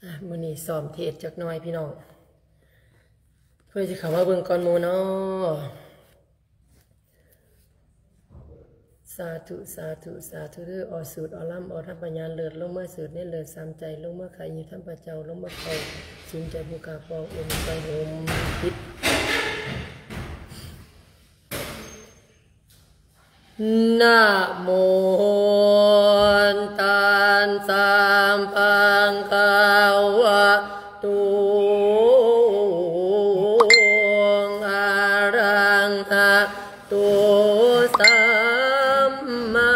ອ່ະ ມື້ນີ້ຊ້ອມເທດຈັກໜ້ອຍພີ່ນ້ອງ ເພື່ອຊິເຂົ້າມາເບິ່ງກ່ອນໝູ່ເນາະ. ສາທຸ ສາທຸ ສາທຸເດີ້. ອໍສູດ ອໍລຳ ອໍທຳພະຍານ ເລີດລົງມາສູດໃນເລີດສາມໃຈ ລົງມາໄຂຢູ່ທຳພະເຈົ້າ ລົງມາເຂົ້າສູນໃຈຜູ້ກາປອງອົງໄປຫົມປິດ. ນະໂມຕັດສະ ພະຄະວະໂຕ ອະຣະຫະໂຕ ສຳມາ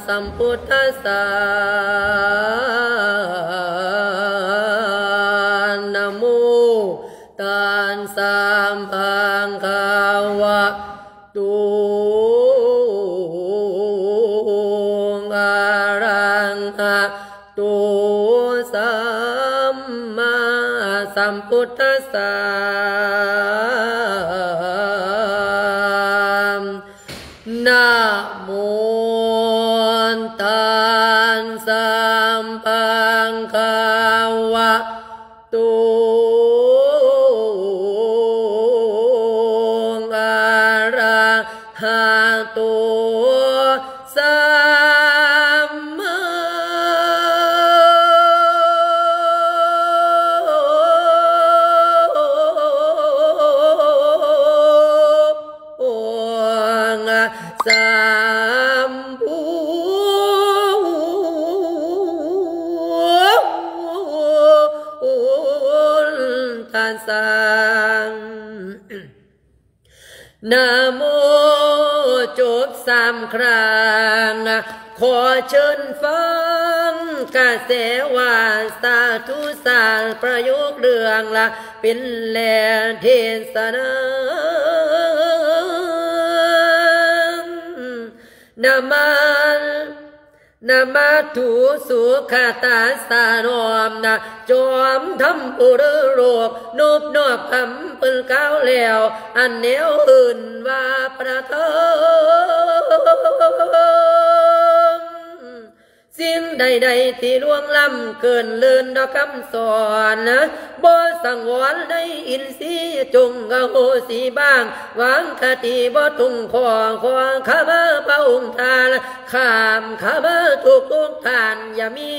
ສຳພຸດທັດສະ. ນະໂມຕັດສະ ພະຄະວະ ໂຕ ອະຣະຫະໂຕ ສຳມາສຳພຸດທັດສະ. ນະໂມຕັດສະ ພະຄະວະ ໂຕ ອະຣະຫະໂຕ ສຳມາ ສຳພຸດທັດສະ. ນະໂມ ຈົບສາມຄັ້ງ ຂໍເຊີນຟັງກະແສວ່າສາທຸສາດ ປະໂຫຍກເລື່ອງລະເປັນແລເທສະນາ. ນະມາ ນະມາທຸສຸຂະຕັດສະ ນ້ອມນະຈອມທຳຜູ້ລືໂລກ ນົບນອບຄຳເພິ່ນກ່າວແລ້ວ ອັນແນວເອີ້ນວ່າພະທຳ. ສິ່ງໃດໆທີ່ລ່ວງລ້ຳເກີນເລີນດອກຄຳສອນ ບໍ່ສັງວອນໃນອິນຊີ ຈົ່ງອະໂຫສິບາງ ວາງຄະຕິບໍ່ຕົງຂໍ້ ຂໍຂະມາພະອົງທ່ານ ຂ້າມຂະມາທຸກໆທ່ານ ຢ່າມີ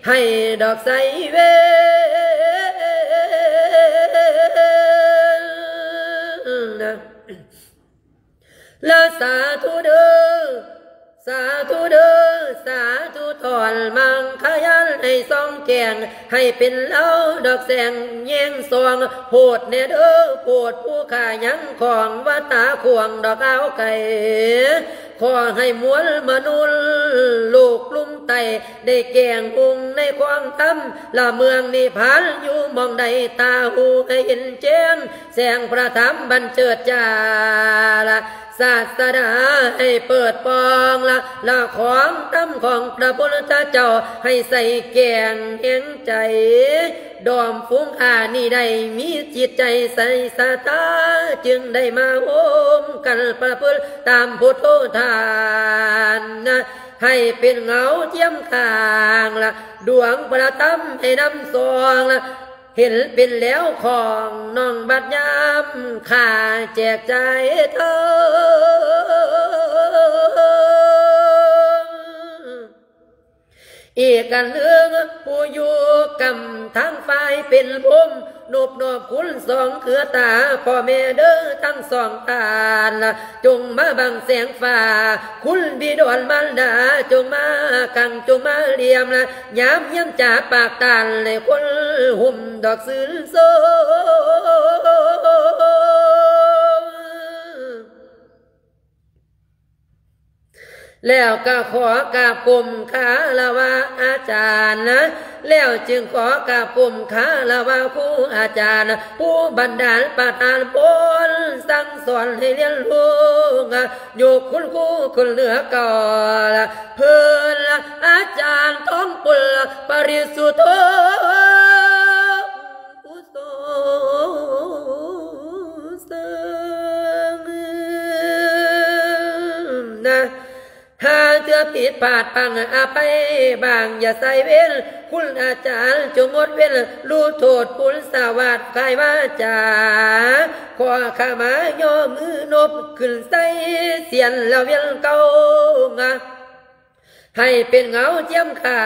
ໃຫ້ດອກໄຊເວນ. ລະສາທຸເດີ້ ສາທຸເດີ້ ສາທຸ ຖອນມັງຄະຍານໃຫ້ສ່ອງແຈ້ງ ໃຫ້ເປັນລາວດອກແສງແຍງສ່ອງ ໂພດແດ່ເດີ້ ໂພດຜູ້ຂ້າຍັງຂອງວັດຕາຂວາງດອກອາວໄກ ຂໍໃຫ້ມວນມະນຸດໂລກລຸ່ມໃຕ້ ໄດ້ແຈ້ງຮຸ່ງໃນຄວາມທຳ ລະເມືອງນິບພານຢູ່ໝ່ອງໃດ ຕາຫູໃຫ້ເຫັນແຈ້ງ ແສງພະທຳບັນເຈີດຈາລະ ສາດສະດາໃຫ້ເປີດປ່ອງລະ ລະຂອງທຳຂອງພະພຸດທະເຈົ້າໃຫ້ໃສແຈ້ງແຮງໃຈ ດອມຝູງຂ້ານີ້ໄດ້ມີຈິດໃຈໃສສະຖາ ຈຶ່ງໄດ້ມາໂຮມກັນປະພຶດຕາມພຸດໂທທານນະ ໃຫ້ເປັນເງົາທຽມຂ້າງລະ ດວງພະທຳໃຫ້ນຳສ່ອງລະ ເຫັນເປັນແລ້ວຂອງນ້ອງບັດຍາມຂ້າແຈກຈ່າຍທອງ. ອີກອັນໜຶ່ງ ຜູ້ຢູ່ກຳທາງຝ່າຍເປັນພົມ ນົບນອບຄຸນສອງເຄືອຕາ ພໍ່ແມ່ເດີທັງສອງທ່ານ ຈົ່ງມາບັງແສງຟ້າ ຄຸນບິດອນມານດາ ຈົ່ງມາກັງ ຈົ່ງມາລຽມລະ ຍາມຍາມຈາປາກຕານ ໃຫ້ຄົນຫຸ້ມດອກຊື່ນຊົມ. ແລ້ວກໍຂໍກາບກົ້ມຄາລະວະອາຈານນະ ແລ້ວຈຶ່ງຂໍກາບກົ້ມຄາລະວະຄູອາຈານ ຜູ້ບັນດານປະທານພົນສັ່ງສອນໃຫ້ຮຽນຮູ້ ຍົກຄຸນຄູຂຶ້ນເໜືອເກົ່າ ເພິ່ນອາຈານທອງປຸນປະລິສຸດໂທ ຜູ້ຊົງສ້າງນະ ຫາເທື່ອ ຜິດພາດພັງອະໄພບາງ ຢ່າໃສ່ເວນ ຄຸນອາຈານຈົ່ງງົດເວັ້ນ ຮູ້ໂທດຄຸນສະຫວາດກາຍວາຈາ ຂໍຂະມາຍໍມືນົບຂຶ້ນໃສ່ ສຽນລະວຽນເກົ່າ ໃຫ້ເປັນເງົາຈຽມຂ້າ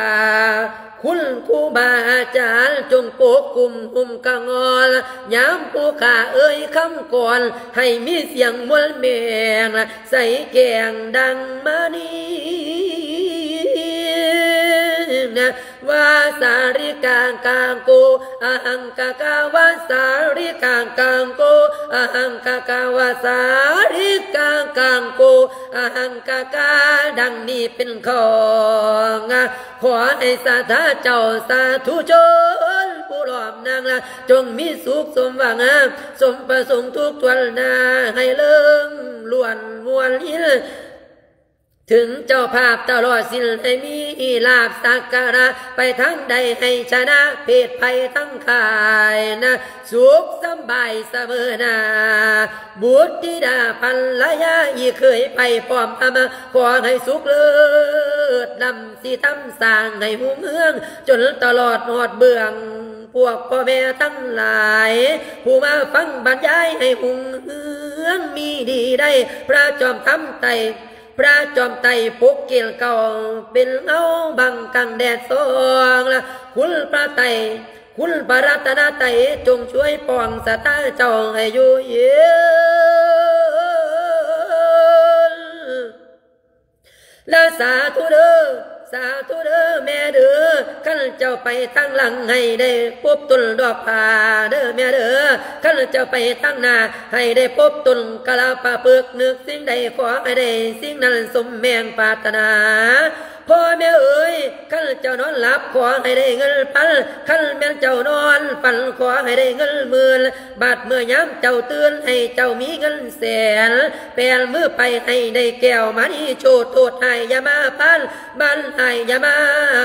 ຄຸນຄູບາອາຈານ ຈົ່ງປົກຄຸມຫຸ້ມກະງອນ ຍາມຜູ້ຂ້າເອີ່ຍຄຳກອນ ໃຫ້ມີສຽງມ່ວນແມ່ນ ໃສແກ້ງດັ່ງມະນີ ວາສາລິກາກາໂກ ອະຫັງກາກາ ວາສາລິກາກາໂກ ອະຫັງກາກາ ວາສາລິກາກາໂກ ອະຫັງກາກາ ດັ່ງນີ້ເປັນຂອງ ຂໍໃຫ້ສາທາເຈົ້າສາທຸຊົນ ຜູ້ລ້ອມນາງລະ ຈົ່ງມີສຸກສົມຫວັງ ສົມປະສົງທຸກຖ້ວນໜ້າ ໃຫ້ເລີງລ້ວນມ່ວນລິນ ເຖິງເຈົ້າພາບຕະຫຼອດສິ້ນ ໃຫ້ມີລາບສັກກາລະ ໄປທາງໃດໃຫ້ຊະນະເພດໄພທັງຂາຍນະ ສຸກສຳບາຍສະເໝີໜ້າ ບຸດທິດາພັນລະຍາອີເຂີຍໄພພ້ອມອາມາ ຂໍໃຫ້ສຸກເລີດລ້ຳ ຊິທຳສ້າງໃຫ້ຮຸ່ງເຮືອງ ຈົນຕະຫຼອດຮອດເບື້ອງ ພວກພໍ່ແມ່ທັງຫຼາຍ ຜູ້ມາຟັງບັນຍາຍໃຫ້ຮຸ່ງເຮືອງມີດີໄດ້ ພະຈອມທັບໄຕ່ ພະຈອມໄຕ່ປົກເກດເກົ້າ ເປັນເງົາບັງກັງແດດສ່ອງລະ ຄຸນພະໄຕ ຄຸນພະລັດຕະນະໄຕ ຈົ່ງຊ່ວຍປ້ອງຊະຕາເຈົ້າໃຫ້ຢູ່ເຢັນລະ ສາທຸເດີ ສາທຸເດີແມ່ເດີ ຄັນເຈົ້າໄປທາງຫຼັງໃຫ້ໄດ້ພົບຕົ້ນດອກຜາເດີແມ່ເດີ ຄັນເຈົ້າໄປທາງໜ້າ ໃຫ້ໄດ້ພົບຕົ້ນກະລະປະພຶກ ນຶກສິ່ງໃດຂໍໃຫ້ໄດ້ສິ່ງນັ້ນສົມແມງປາດຖະໜາ ພໍ່ແມ່ເອີຍ ຄັນເຈົ້ານອນຫຼັບຂໍໃຫ້ໄດ້ເງິນພັນ ຄັນແມ່ນເຈົ້ານອນຝັນຂໍໃຫ້ໄດ້ເງິນໝື່ນ ບາດເມື່ອຍາມເຈົ້າຕື່ນໃຫ້ເຈົ້າມີເງິນແສນ ແປນມືໄປໃຫ້ໄດ້ແກ້ວມະນີໂຊດ ໂທດຮ້າຍຢ່າມາຜ່ານ ບ້ານຮ້າຍຢ່າມາ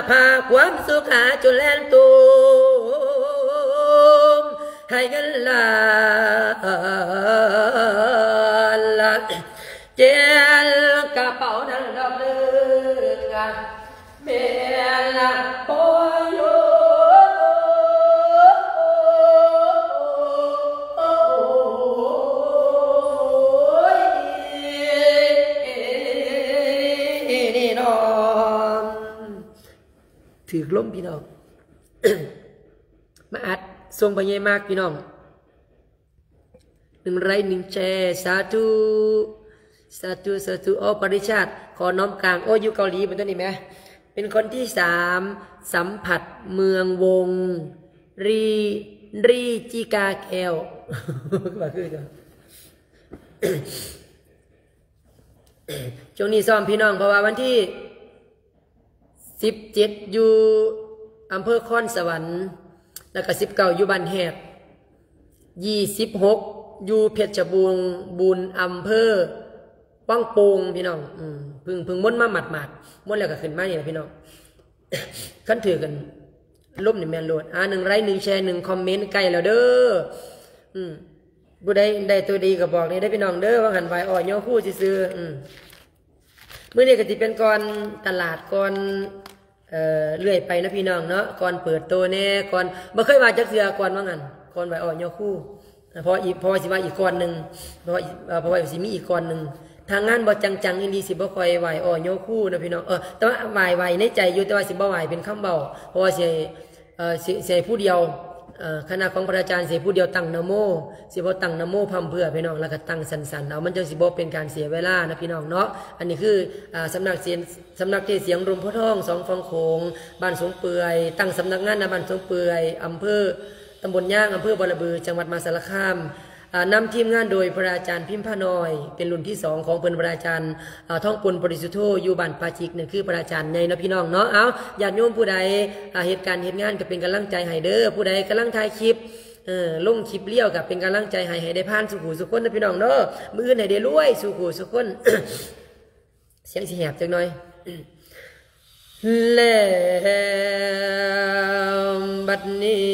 ພາ ຄວາມສຸຂາຈົ່ງແລ່ນຕູມ ໃຫ້ເງິນລ້ານລ້ານ ແກ່ນກະເປົານັ້ນດອກເດີ ແມ່ນລະພໍ່ໂຍ ນີ້ນ້ອງ ຖືກລົມພີ່ນ້ອງ ມາອັດສົ່ງໄປໃຫຍ່ມາກພີ່ນ້ອງ ໜຶ່ງໄລຄ໌ໜຶ່ງແຊ ສາທຸ ສາທຸ ສາທຸ ໂອ ປະລິຊາດ ຂໍນ້ອມກາງ ໂອ ຢູ່ເກົາຫຼີເປັນຕົ້ນນີ້ແໝ ເປັນຄົນທີສາມ ສຳຜັດເມືອງວົງ ຣີ ຣີຈິກາແກ້ວ ວ່າຄືກັນ ຊ່ວງນີ້ຊ້ອມພີ່ນ້ອງ ເພາະວ່າວັນທີ ສິບເຈັດ ຢູ່ອຳເພີຄອນສະຫວັນ ແລ້ວກະ ສິບເກົ້າ ຢູ່ບ້ານແຮກ ຊາວຫົກ ຢູ່ເພັດຊະບູນ ບູນ ອຳເພີວັງໂປ່ງພີ່ນ້ອງ ອືມ ເພິ່ງ ເພິ່ງມົນມາໝາດໆ ມົນແລ້ວກະຂຶ້ນມານີ້ລະພີ່ນ້ອງ ຄັນຖືກກັນລົມນີ້ແມ່ນໂລດ ອາ ໜຶ່ງໄລຄ໌ໜຶ່ງແຊໜຶ່ງຄອມເມັນ ໃກ້ແລ້ວເດີ ອືມ ຜູ້ໃດໄດ້ໂຕດີກະບອກແດ່ເດີພີ່ນ້ອງເດີ ວ່າຫັ້ນໄຫວ້ອ້ອຍໍຄູຊື່ໆ ອືມ ມື້ນີ້ກະຊິເປັນກ່ອນຕະຫຼາດ ກ່ອນ ເອີ ເລື້ອຍໄປເນາະພີ່ນ້ອງເນາະ ກ່ອນເປີດໂຕແດ່ ກ່ອນ ບໍ່ເຄີຍວ່າຈັກເທື່ອ ກ່ອນວ່າຫັ້ນ ກ່ອນໄຫວ້ອ້ອຍໍຄູ ເພາະອີກ ເພາະວ່າຊິວ່າອີກກ່ອນໜຶ່ງ ເພາະວ່າ ເອີ ເພາະວ່າຊິມີອີກກ່ອນໜຶ່ງ ຖ້າງານບໍ່ຈັງໆອີ່ຫຼີ ຊິບໍ່ຄ່ອຍໄຫວ້ອ້ອຍໍຄູນະພີ່ນ້ອງ ເອີ ແຕ່ວ່າໄຫວ້ ໄຫວ້ໃນໃຈຢູ່ ແຕ່ວ່າຊິບໍ່ໄຫວ້ເປັນຄຳເວົ້າ ເພາະວ່າຊິ ເອີ ຊິ ຊິໃຫ້ຜູ້ດຽວ ເອີ ຄະນະຂອງພະອາຈານຊິໃຫ້ຜູ້ດຽວຕັ້ງນະໂມ ຊິບໍ່ຕັ້ງນະໂມພ້ຳເພື່ອພີ່ນ້ອງ ແລ້ວກະຕັ້ງສັ້ນໆເອົາ ມັນຈັ່ງຊິບໍ່ເປັນການເສຍເວລານະພີ່ນ້ອງເນາະ ອັນນີ້ຄື ອາ ສຳນັກເສນ ສຳນັກເທດສຽງລົມໂພທອງ ສອງຝັ່ງໂຂງ ບ້ານສົງເປື່ອຍ ຕັ້ງສຳນັກງານນະບ້ານສົງເປື່ອຍ ອຳເພີ ຕຳບົນຍາງ ອຳເພີບໍລະບື ຈັງຫວັດມະຫາສາລະຄາມ ອາ ນຳທີມງານໂດຍພະອາຈານພິມພານ້ອຍ ເປັນລຸ້ນທີສອງຂອງເພິ່ນ ພະອາຈານ ອາ ທອງປຸນ ບໍລິສຸດໂທ ຢູ່ບ້ານປາຈິກ ນັ້ນຄືພະອາຈານໃຫຍ່ເນາະພີ່ນ້ອງເນາະ ເອົາ ຍາດໂຍມຜູ້ໃດ ອາ ເຮັດການເຮັດງານກະເປັນກຳລັງໃຈໃຫ້ເດີ ຜູ້ໃດກຳລັງຖ່າຍຄລິບ ເອີ ລົງຄລິບລຽວກະເປັນກຳລັງໃຈໃຫ້ ໃຫ້ໄດ້ຜ່ານສູ່ຜູ້ສູ່ຄົນເດີພີ່ນ້ອງເດີ ມື້ອື່ນໃຫ້ໄດ້ລວຍສູ່ຜູ້ສູ່ຄົນ ສຽງຊິແຫບຈັກໜ້ອຍ ແລ້ວບັດນີ້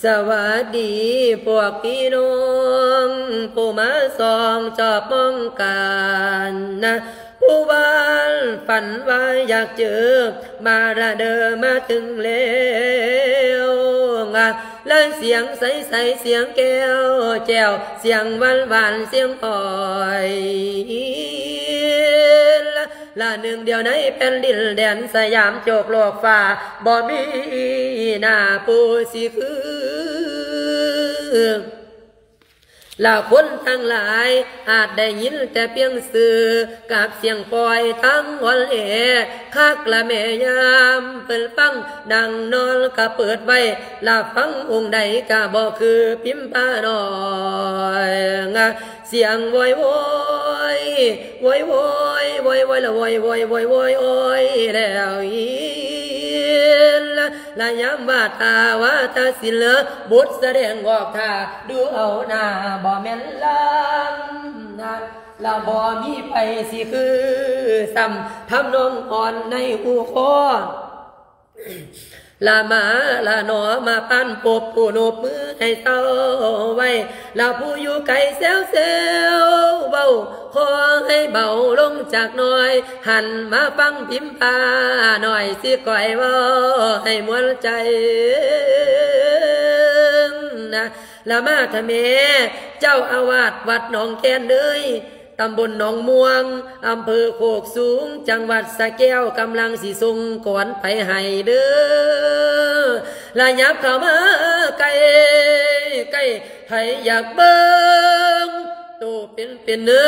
ສະຫວັດດີພວກພີ່ນ້ອງ ຜູ້ມາສ່ອງຈອບມອງການນະ ຜູ້ວ່າຝັນວ່າຢາກເຈີ ມາລະເດີມາເຖິງແລ້ວ ລະສຽງໃສໆ ສຽງແກ້ວແຈ້ວ ສຽງຫວານໆ ສຽງອ້ອຍ ລະໜຶ່ງດຽວໃນແຜ່ນດິນແດນສະຫຍາມ ໂຈກໂລກຟ້າ ບໍ່ມີໜ້າຜູ້ຊິຄື. ລະຄົນທັງຫຼາຍອາດໄດ້ຍິນແຕ່ພຽງຊື່ ກັບສຽງປ່ອຍທາງອ່ອນແອ ຄັກລະແມ່ຍາມເພິ່ນຟັງ ນັ່ງນອນກະເປີດໄວ້ ລະຟັງອົງໃດກະບໍ່ຄືພິມພານ້ອຍ ສຽງໂວຍໂວຍ ໂວຍໂວຍ ໂວຍໂວຍ ລະໂວຍໂວຍ ໂວຍໂວຍ ໂອຍແລ້ວອີ ລະຍາມວ່າຖ້າວ່າຕາສິນເລີ ບົດສະແດງອອກທ່າ ດູເອົາໜ້າບໍ່ແມ່ນລຳນະ ລະບໍ່ມີໃຜຊິຄືຊ້ຳ ທຳນອງອ່ອນໃນຫູຄໍ ລະມາລະໜໍ ມາປານພົບຜູ້ໂນບມືໃຫ້ເຊົາໄວ້ ລະຜູ້ຢູ່ໄກແຊວໆ ເວົ້າຂໍໃຫ້ເບົາລົງຈັກໜ້ອຍ ຫັນມາຟັງພິມພາໜ້ອຍ ຊິກ້ອຍເວົ້າໃຫ້ມ່ວນໃຈນະ ລະມາທະແມ່ ເຈົ້າອາວາດວັດໜອງແຄນເດີຍ ຕຳບົນໜອງມ່ວງ ອຳເພີໂຄກສູງ ຈັງຫວັດສະແກ້ວ ກຳລັງຊິສົ່ງກອນໄປໃຫ້ເດີ ລະຫຍັບເຂົ້າມາໃກ້ ໃກ້ ໃຜຢາກເບິ່ງໂຕເປັນໆ ເດີ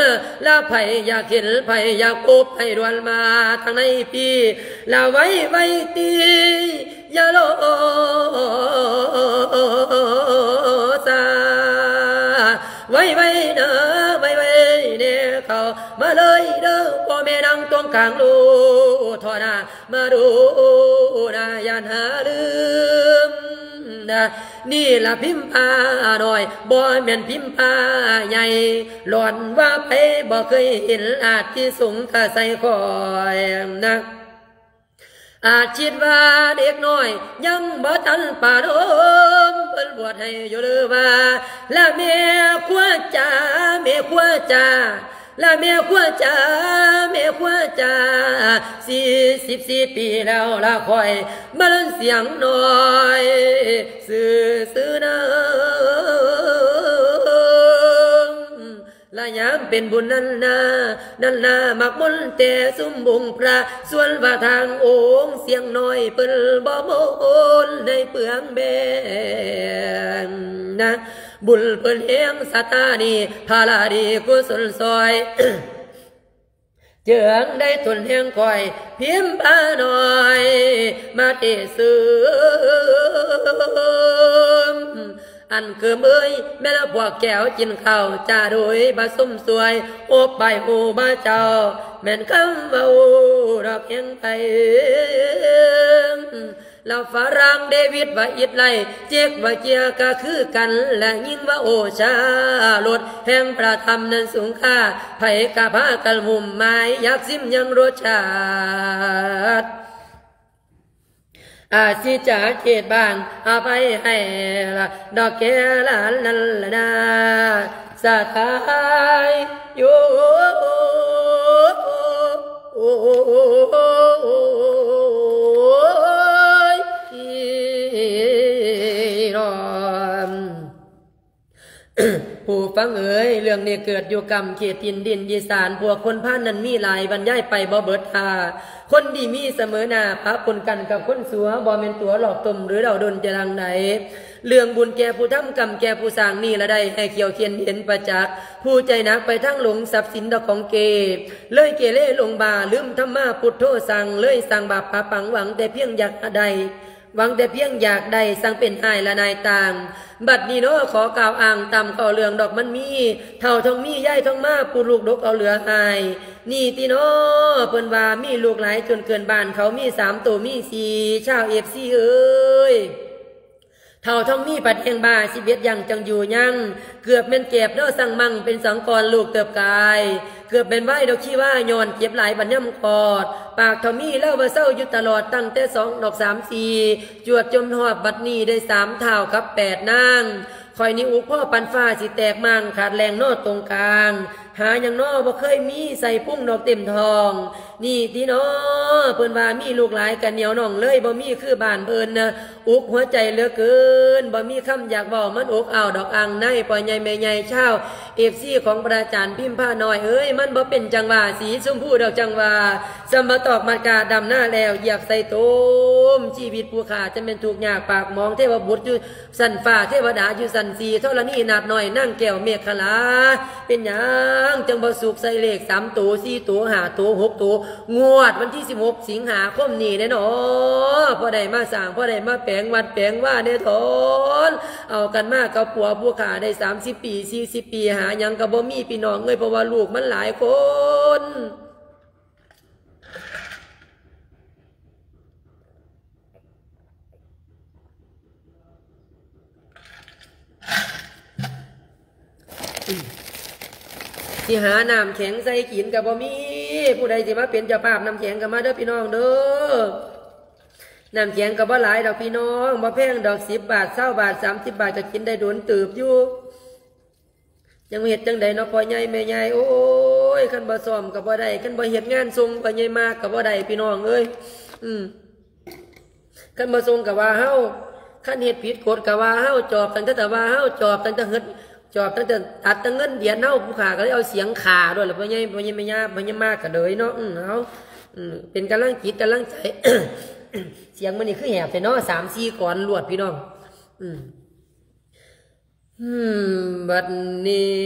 ລະໃຜຢາກເຫັນ ໃຜຢາກພົບ ໃຫ້ດ່ວນມາທາງໃນພີ້ ລະໄວໆ ຕິ ຢ່າລໍຊ້າ ໄວໆ ນະ ໄວໆ ແນ່ ເຂົ້າມາເລີຍເດີ ພໍ່ແມ່ນາງຕົງກາງ ໂລ ທໍ່ໜ້າ ມາດູໜ້າ ຢ່ານຫາລືມນະ ນີ້ລະພິມພານ້ອຍ ບໍ່ແມ່ນພິມພາໃຫຍ່ ຫຼອນວ່າໃຜບໍ່ເຄີຍເຫັນ ອາດຊິສົງກະໃສ່ຂ້ອຍນະ ອາດຄິດວ່າເດັກນ້ອຍຍັງບໍ່ທັນປານອມ ເພິ່ນບວດໃຫ້ຢູ່ຫຼືວ່າ ລະແມ່ຄົວຈ໋າ ແມ່ຄົວຈ໋າ ລະແມ່ຄົວຈ໋າ ແມ່ຄົວຈ໋າ ສີ່ສິບສີ່ປີແລ້ວລະຂ້ອຍ ມາເລີນສຽງນ້ອຍ ຊື່ໆ ນາງ ລະຍາມເປັນບຸນນັ້ນນາ ນັ້ນນາ ມັກມົນແຕ່ຊຸມອົງພະ ສ່ວນວ່າທາງອົງສຽງນ້ອຍ ເພິ່ນບໍ່ມົນໃຫ້ເປືອງແບງນະ ບຸນເພິ່ນແຮງສະຕານີ້ ພາລະດີກຸສົນຊ່ອຍ ຈຶ່ງໄດ້ທົນແຮງຂ້ອຍ ພິມພານ້ອຍ ມາເຕະເສີມ ອັນເກີມເອີຍ ແມ່ນພວກແກ້ວກິນເຂົ້າ ຈາໂດຍບໍ່ສົມສວຍ ອົບໄປຫູບ່າເຈົ້າ ແມ່ນຄຳເວົ້າດອກແຮງໄປ ລະຝຣັ່ງເດວິດວ່າອິດໄລ ເຈັກວ່າເຈຍກະຄືກັນ ລະຍິງວ່າໂອຊາລົດ ແຫ່ງພະທຳນັ້ນສູງຄ່າ ໃຜກະພາກັນຫຸ້ມໝາຍ ຢາກຊິມຍັງລົດຊາດ ອາຊິຈາເຂດບ້ານ ອະໄພໃຫ້ລະ ດອກແກ່ຫຼານນັ້ນລະນາ ສະຖາຍໂຍ ໂອ້ຍ ພີ່ນ້ອງ ຜູ້ຟັງເອີຍ ເລື່ອງນີ້ເກີດຢູ່ກ້ຳເຂດຖິ່ນດິນອີສານ ພວກຄົນພານນັ້ນມີຫຼາຍ ບັນຍາຍໄປບໍ່ເບິດທ່າ ຄົນດີມີສະເໝີໜ້າ ປະປົນກັນກັບຄົນຊົ່ວ ບໍ່ແມ່ນຕົວຫຼອກຕົ້ມ ຫຼືເດົາດົນຈະດັ່ງໃດ ເລື່ອງບຸນແກ່ຜູ້ທຳ ກຳແກ່ຜູ້ສ້າງ ນີ້ລະໄດ້ໃຫ້ຂຽວຂຽນເຫັນປະຈັກ ຜູ້ໃຈໜັກໄປທາງຫຼົງ ຊັບສິນດອກຂອງເກ ເລີຍເກເລຫຼົງບ້າ ລືມທຳມາພຸດໂທສັ່ງ ເລີຍສ້າງບາບປະປັງ ຫວັງແຕ່ພຽງຢາກໄດ້ ຫວັງແຕ່ພຽງຢາກໄດ້ ຊ່າງເປັນອ້າຍລະນາຍຕ່າງ ບັດນີ້ເນາະ ຂໍກ່າວອ້າງຕາມເຂົ້າເລື່ອງດອກມັນມີ ເຖົ້າທອງມີ ຍາຍທອງມາ ຜູ້ລູກດົກເອົາເຫຼືອອ້າຍ ນີ້ຕິເນາະ ເພິ່ນວ່າມີລູກຫຼາຍຈົນເກີນບ້ານເຂົາ ມີສາມໂຕມີສີ່ ຊາວເອັຟຊີເອີຍ ເຖົ້າທອງມີພັດແຮງບ້າ ສິບເອັດຢ່າງຈັ່ງຢູ່ຍັງ ເກືອບແມ່ນແກບເນາະ ສັງມັງເປັນສັງກອນ ລູກເຕີບກາຍ ເກືອບແມ່ນວາຍດອກຊີວາ ຍ້ອນເຈັບຫຼາຍບັດຍາມຄອດ ປາກເຖົ້າມີລາວວ່າເຊົາຢູ່ຕະຫຼອດ ຕັ້ງແຕ່ສອງດອກສາມສີ່ ຈວດຈົນຮອດບັດນີ້ໄດ້ສາມທ້າວກັບແປດນາງ ຂ້ອຍນີ້ອຸກພໍປານຟ້າຊິແຕກມ້າງຂາດແຫຼ່ງນໍຕົງກາງ ຫາຫຍັງນໍບໍ່ເຄີຍມີໃສ່ພຸງດອກເຕັມທ້ອງ ນີ້ຕິນໍ ເພິ່ນວ່າມີລູກຫຼາຍກະໜຽວໜອງເລີຍ ບໍ່ມີຄືບ້ານເພິ່ນ ອຸກຫົວໃຈເຫຼືອເກີນ ບໍ່ມີຄຳຢາກເວົ້າ ມັນອົບອ້າວດອກອ່າງໃນ ພໍ່ໃຫຍ່ແມ່ໃຫຍ່ຊາວເອັຟຊີຂອງພະອາຈານພິມພານ້ອຍເອີຍ ມັນບໍ່ເປັນຈັ່ງວ່າ ສີຊົມພູດອກຈັ່ງວ່າ ສຳມະຕອກມັດກາດຳນາແລ້ວ ຢຽບໃສ່ໂຕມ ຊີວິດຜູ້ຂ້າຈະແມ່ນທຸກຍາກປາກໝອງ ເທວະບຸດຢູ່ຊັ້ນຟ້າ ເທວະດາຢູ່ຊັ້ນສີ່ ທໍລະນີນາດນ້ອຍ ນາງແກ້ວເມກຂະລາ ເປັນຫຍັງຈັ່ງບໍ່ສຸກໃສ່ເລກສາມໂຕ ສີ່ໂຕ ຫ້າໂຕ ຫົກໂຕ ງວດວັນທີສິບຫົກ ສິງຫາຄົມນີ້ແດ່ນໍ ພໍໄດ້ມາສ້າງ ພໍໄດ້ມາແປງວັດແປງວາແດ່ທ້ອນ ເອົາກັນມາກັບຜົວຜູ້ຂ້າໄດ້ສາມສິບປີ ສີ່ສິບປີ ຫາຫຍັງກໍບໍ່ມີ ພີ່ນ້ອງເອີຍ ເພາະວ່າລູກມັນຫຼາຍຄົນ. ຊິຫານ້ຳແຂງໃສ່ກິນກໍບໍ່ມີ ຜູ້ໃດຊິມາເປັນເຈົ້າພາບນ້ຳແຂງກໍມາເດີພີ່ນ້ອງເດີ ນ້ຳແຂງກໍບໍ່ຫຼາຍດອກພີ່ນ້ອງ ບໍ່ແພງດອກ ສິບບາດ ຊາວບາດ ສາມສິບບາດ ກໍກິນໄດ້ດົນເຕີບຢູ່. ຍັງເຮັດຈັ່ງໃດເນາະ ພໍ່ໃຫຍ່ແມ່ໃຫຍ່ ໂອ້ຍ ຄັນບໍ່ຊ້ອມກໍບໍ່ໄດ້ ຄັນບໍ່ເຮັດງານສົ່ງພໍ່ໃຫຍ່ມາກກໍບໍ່ໄດ້ ພີ່ນ້ອງເອີຍ ອືມ ຄັນບໍ່ສົ່ງກໍວ່າເຮົາ ຄັນເຮັດຜິດກົດກໍວ່າເຮົາ ຈອບຕັ້ງແຕ່ວ່າເຮົາ ຈອບຕັ້ງແຕ່ເງິນ ຈອບຕັ້ງແຕ່ຕັດແຕ່ເງິນເດືອນເຮົາ ຜູ້ຂ້າກໍເລີຍເອົາສຽງຂ້າໂລດລະ ພໍ່ໃຫຍ່ ພໍ່ໃຫຍ່ແມ່ຍ່າ ພໍ່ໃຫຍ່ມາກໍເລີຍເນາະ ອືມ ເອົາ ອືມ ເປັນກຳລັງຈິດກຳລັງໃຈ ສຽງມື້ນີ້ຄືແຫບແທ້ເນາະ ສາມສີ່ກອນລວດ ພີ່ນ້ອງ ອືມ. ບັດນີ້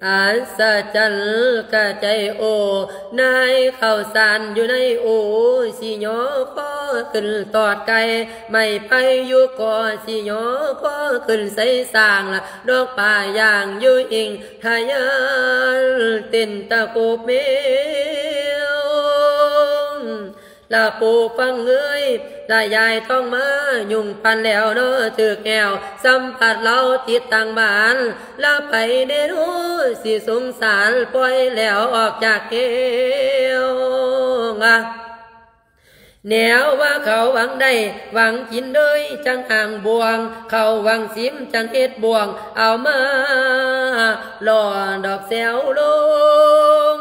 ອັດສະຈັນກະໃຈໂອ ນາຍເຂົ້າສານຢູ່ໃນໂອ ຊິຍໍຂໍຂຶ້ນຕອດໄກ່ ໄມ້ໄຜ່ຢູ່ກໍ ຊິຍໍຂໍຂຶ້ນໃສ່ສ້າງລະ ດອກປາຍ່າງຢູ່ອີງ ທະຍານເຕັ້ນຕະໂກບແມວ ລະປູຟັງເອີຍ ລະຍາຍທອງມາ ຍຸງປັນແລ້ວເນາະຖືກແອວ ສຳພັດລາວຕິດຕັ້ງບ້ານ ລະໄປເດໂນ ຊິສົງສານປ່ອຍແລ້ວອອກຈາກແອວ ແນວວ່າເຂົາຫວັງໄດ້ຫວັງກິນເດີຍ ຈັ່ງອ່າງບວງ ເຂົາຫວັງຊິມຈັ່ງເຮັດບວງ ເອົາມາຫຼໍ່ດອກແຊວລົງ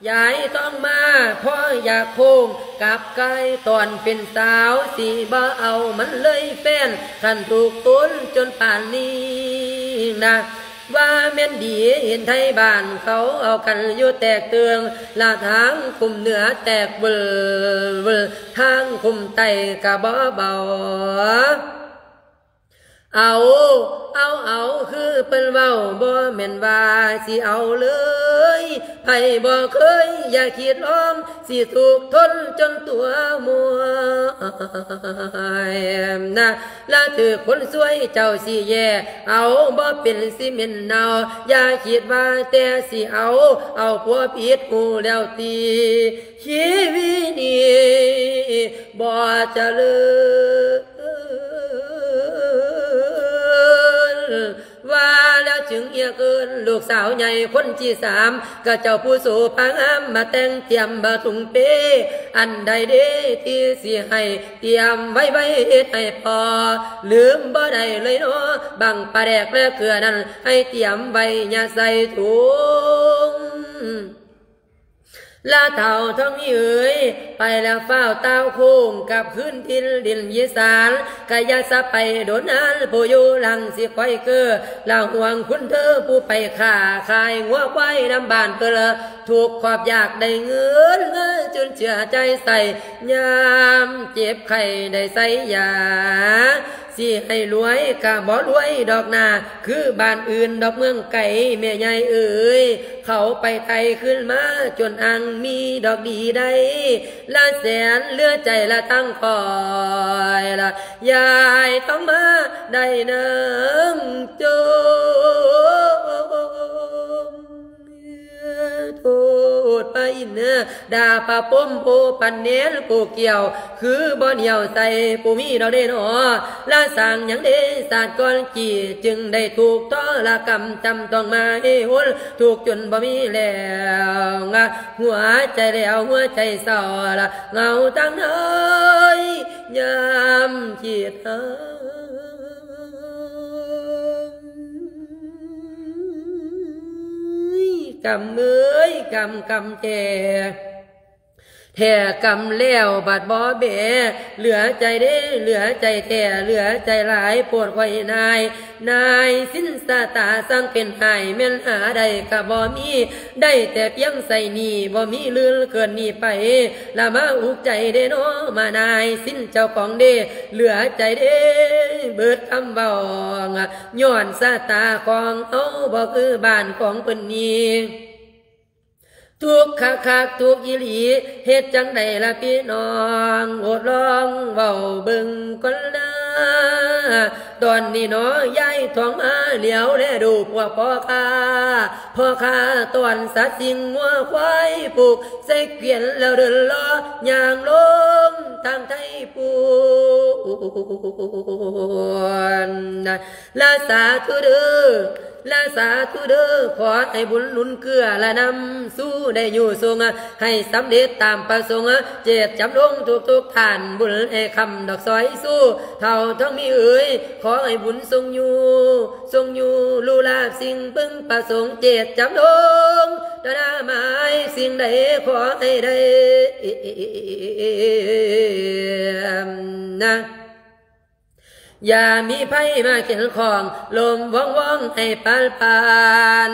ຍາຍທອງມາ ພໍຢາກໂຄ້ງກັບກາຍຕອນເປັນສາວ ຊິບໍ່ເອົາມັນເລີຍແຟນ ຄັນຖືກຕົນຈົນປານນີ້ນະ ວ່າແມ່ນດີເຫັນໄທບ້ານເຂົາເອົາກັນຢູ່ແຕກເຕີງ ລະທາງຄຸ້ມເໜືອແຕກເວີລ ທາງຄຸ້ມໃຕ້ກະບໍ່ເບົາ ເອົາ ເອົາ ເອົາ ຄືເພິ່ນເວົ້າ ບໍ່ແມ່ນວ່າຊິເອົາເລີຍ ໃຜບໍ່ເຄີຍ ຢ່າຄິດລອງ ຊິທຸກທົນຈົນຕົວມວຍນະ ລະຖືກຄົນຊວຍເຈົ້າຊິແຍ່ ເອົາ ບໍ່ເປັນຊິເໝັນເນົ່າ ຢ່າຄິດວ່າແຕ່ຊິເອົາ ເອົາຜົວຜິດຮູ້ແລ້ວຕິ ຊີວິດນີ້ບໍ່ຈະເລີນ ວ່າແລ້ວຈຶ່ງຮຽກເອີ້ນລູກສາວໃຫຍ່ຄົນທີສາມ ກະເຈົ້າຜູ້ໂສພາງາມ ມາແຕ່ງຕຽມບະທຸງເປ ອັນໃດເດທີ່ຊິໃຫ້ຕຽມໄວ້ໄວ້ເຮັດໃຫ້ພໍ ລືມບໍ່ໄດ້ເລີຍເນາະ ບັ້ງປາແດກແລະເກືອນັ້ນ ໃຫ້ຕຽມໄວ້ຢ່າໃສ່ຖົງ ລະທ້າວທອງມີເອີຍ ໄປແລ້ວຟ້າວຕ່າວໂຄ້ງກັບຄືນຖິ່ນດິນອີສານ ກະຢ່າສະໄປດົນນານ ຜູ້ຢູ່ຫຼັງຊິຄອຍເກີ ລະຫ່ວງຄຸນເທີຜູ້ໄປຄ້າຂາຍງົວຄວາຍນຳບ້ານເພິ່ນ ທຸກຄວາມຢາກໄດ້ເງິນ ເງິນຈຸນເຈືອໃຈໃສ່ ຍາມເຈັບໄຂ້ໄດ້ໃສ່ຢາ ຊິໃຫ້ລວຍກະບໍ່ລວຍດອກນາ ຄືບ້ານອື່ນດອກເມືອງໄກ ແມ່ໃຫຍ່ເອີຍ ເຂົາໄປໄຕ່ຂຶ້ນມາຈົນອ່າງມີດອກດີໄດ້ ລະແສນເຫຼືອໃຈລະທັງຂ້ອຍລະ ຍາຍທອງມາໄດ້ນາງຈົ່ມ ໂທດພະອິນ ດ່າພະພົມຜູ້ປັນແໜນຜູ້ກ່ຽວ ຄືບໍ່ໜຽວໃສ່ຜູ້ມີດອກເດເນາະ ລະສ້າງຫຍັງເດຊາດກ່ອນກີ້ ຈຶ່ງໄດ້ທຸກທໍລະກຳ ຈຳຕ້ອງມາໃຫ້ຫົນ ທຸກຈົນບໍ່ມີແລ້ວ ຫົວໃຈແຫຼວ ຫົວໃຈເສົ້າລະ ເຫງົາທາງໃດ ຍາມຄິດຫາ ກຳເອີຍ ກຳ ກຳແທ້ ແທ້ກຳແລ້ວບັດບໍ່ແບ ເຫຼືອໃຈເດ້ ເຫຼືອໃຈແທ້ ເຫຼືອໃຈຫຼາຍໂພດຂ້ອຍນາຍ ນາຍສິນຊະຕາຊ່າງເປັນຫາຍ ແມ່ນຫາໄດ້ກະບໍ່ມີ ໄດ້ແຕ່ພຽງໃຊ້ໜີ້ ບໍ່ມີເຫຼືອເກີນນີ້ໄປ ລະມາອຸກໃຈເດ້ນໍ ມານາຍສິນເຈົ້າຂອງເດ້ ເຫຼືອໃຈເດ້ ເບິດຄຳເວົ້າ ຍ້ອນຊະຕາຂອງເຮົາບໍ່ຄືບ້ານຂອງເພິ່ນນີ້ ທຸກຄັກໆ ທຸກອີ່ຫຼີ ເຮັດຈັ່ງໃດລະພີ່ນ້ອງ ໂອດລອງເວົ້າເບິ່ງກ່ອນນາ ຕອນນີ້ໜໍ ຍາຍທອງມາຫຼຽວແລດູພວກພໍ່ຄ້າ ພໍ່ຄ້າຕ້ອນສັດສິ່ງງົວຄວາຍ ຜູກໃສ່ກວຽນແລ້ວເດີນລໍ ຍ່າງລົງທາງໄທພຸ້ນ ລະສາທຸເດີ ລະສາທຸເດີ ຂໍໃຫ້ບຸນໜູນເກື້ອລະນຳສູ່ໄດ້ຢູ່ສົ່ງ ໃຫ້ສຳເລັດຕາມປະສົງ ເຈດຈຳລົງທຸກໆທ່ານ ບຸນໃຫ້ຄຳດອກຊອຍຊູ ເຖົ້າທອງມີເອີຍ ຂໍໃຫ້ບຸນຊົງຢູ່ ຊົງຢູ່ ລູລາບສິ່ງເພິ່ງປະສົງ ເຈດຈຳລົງ ຕະນາໝາຍ ສິ່ງໃດຂໍໃຫ້ໄດ້ ນະ ຢ່າມີໄພມາເຂັນຂ້ອງ ລົມວອງໆ ໃຫ້ປານປານ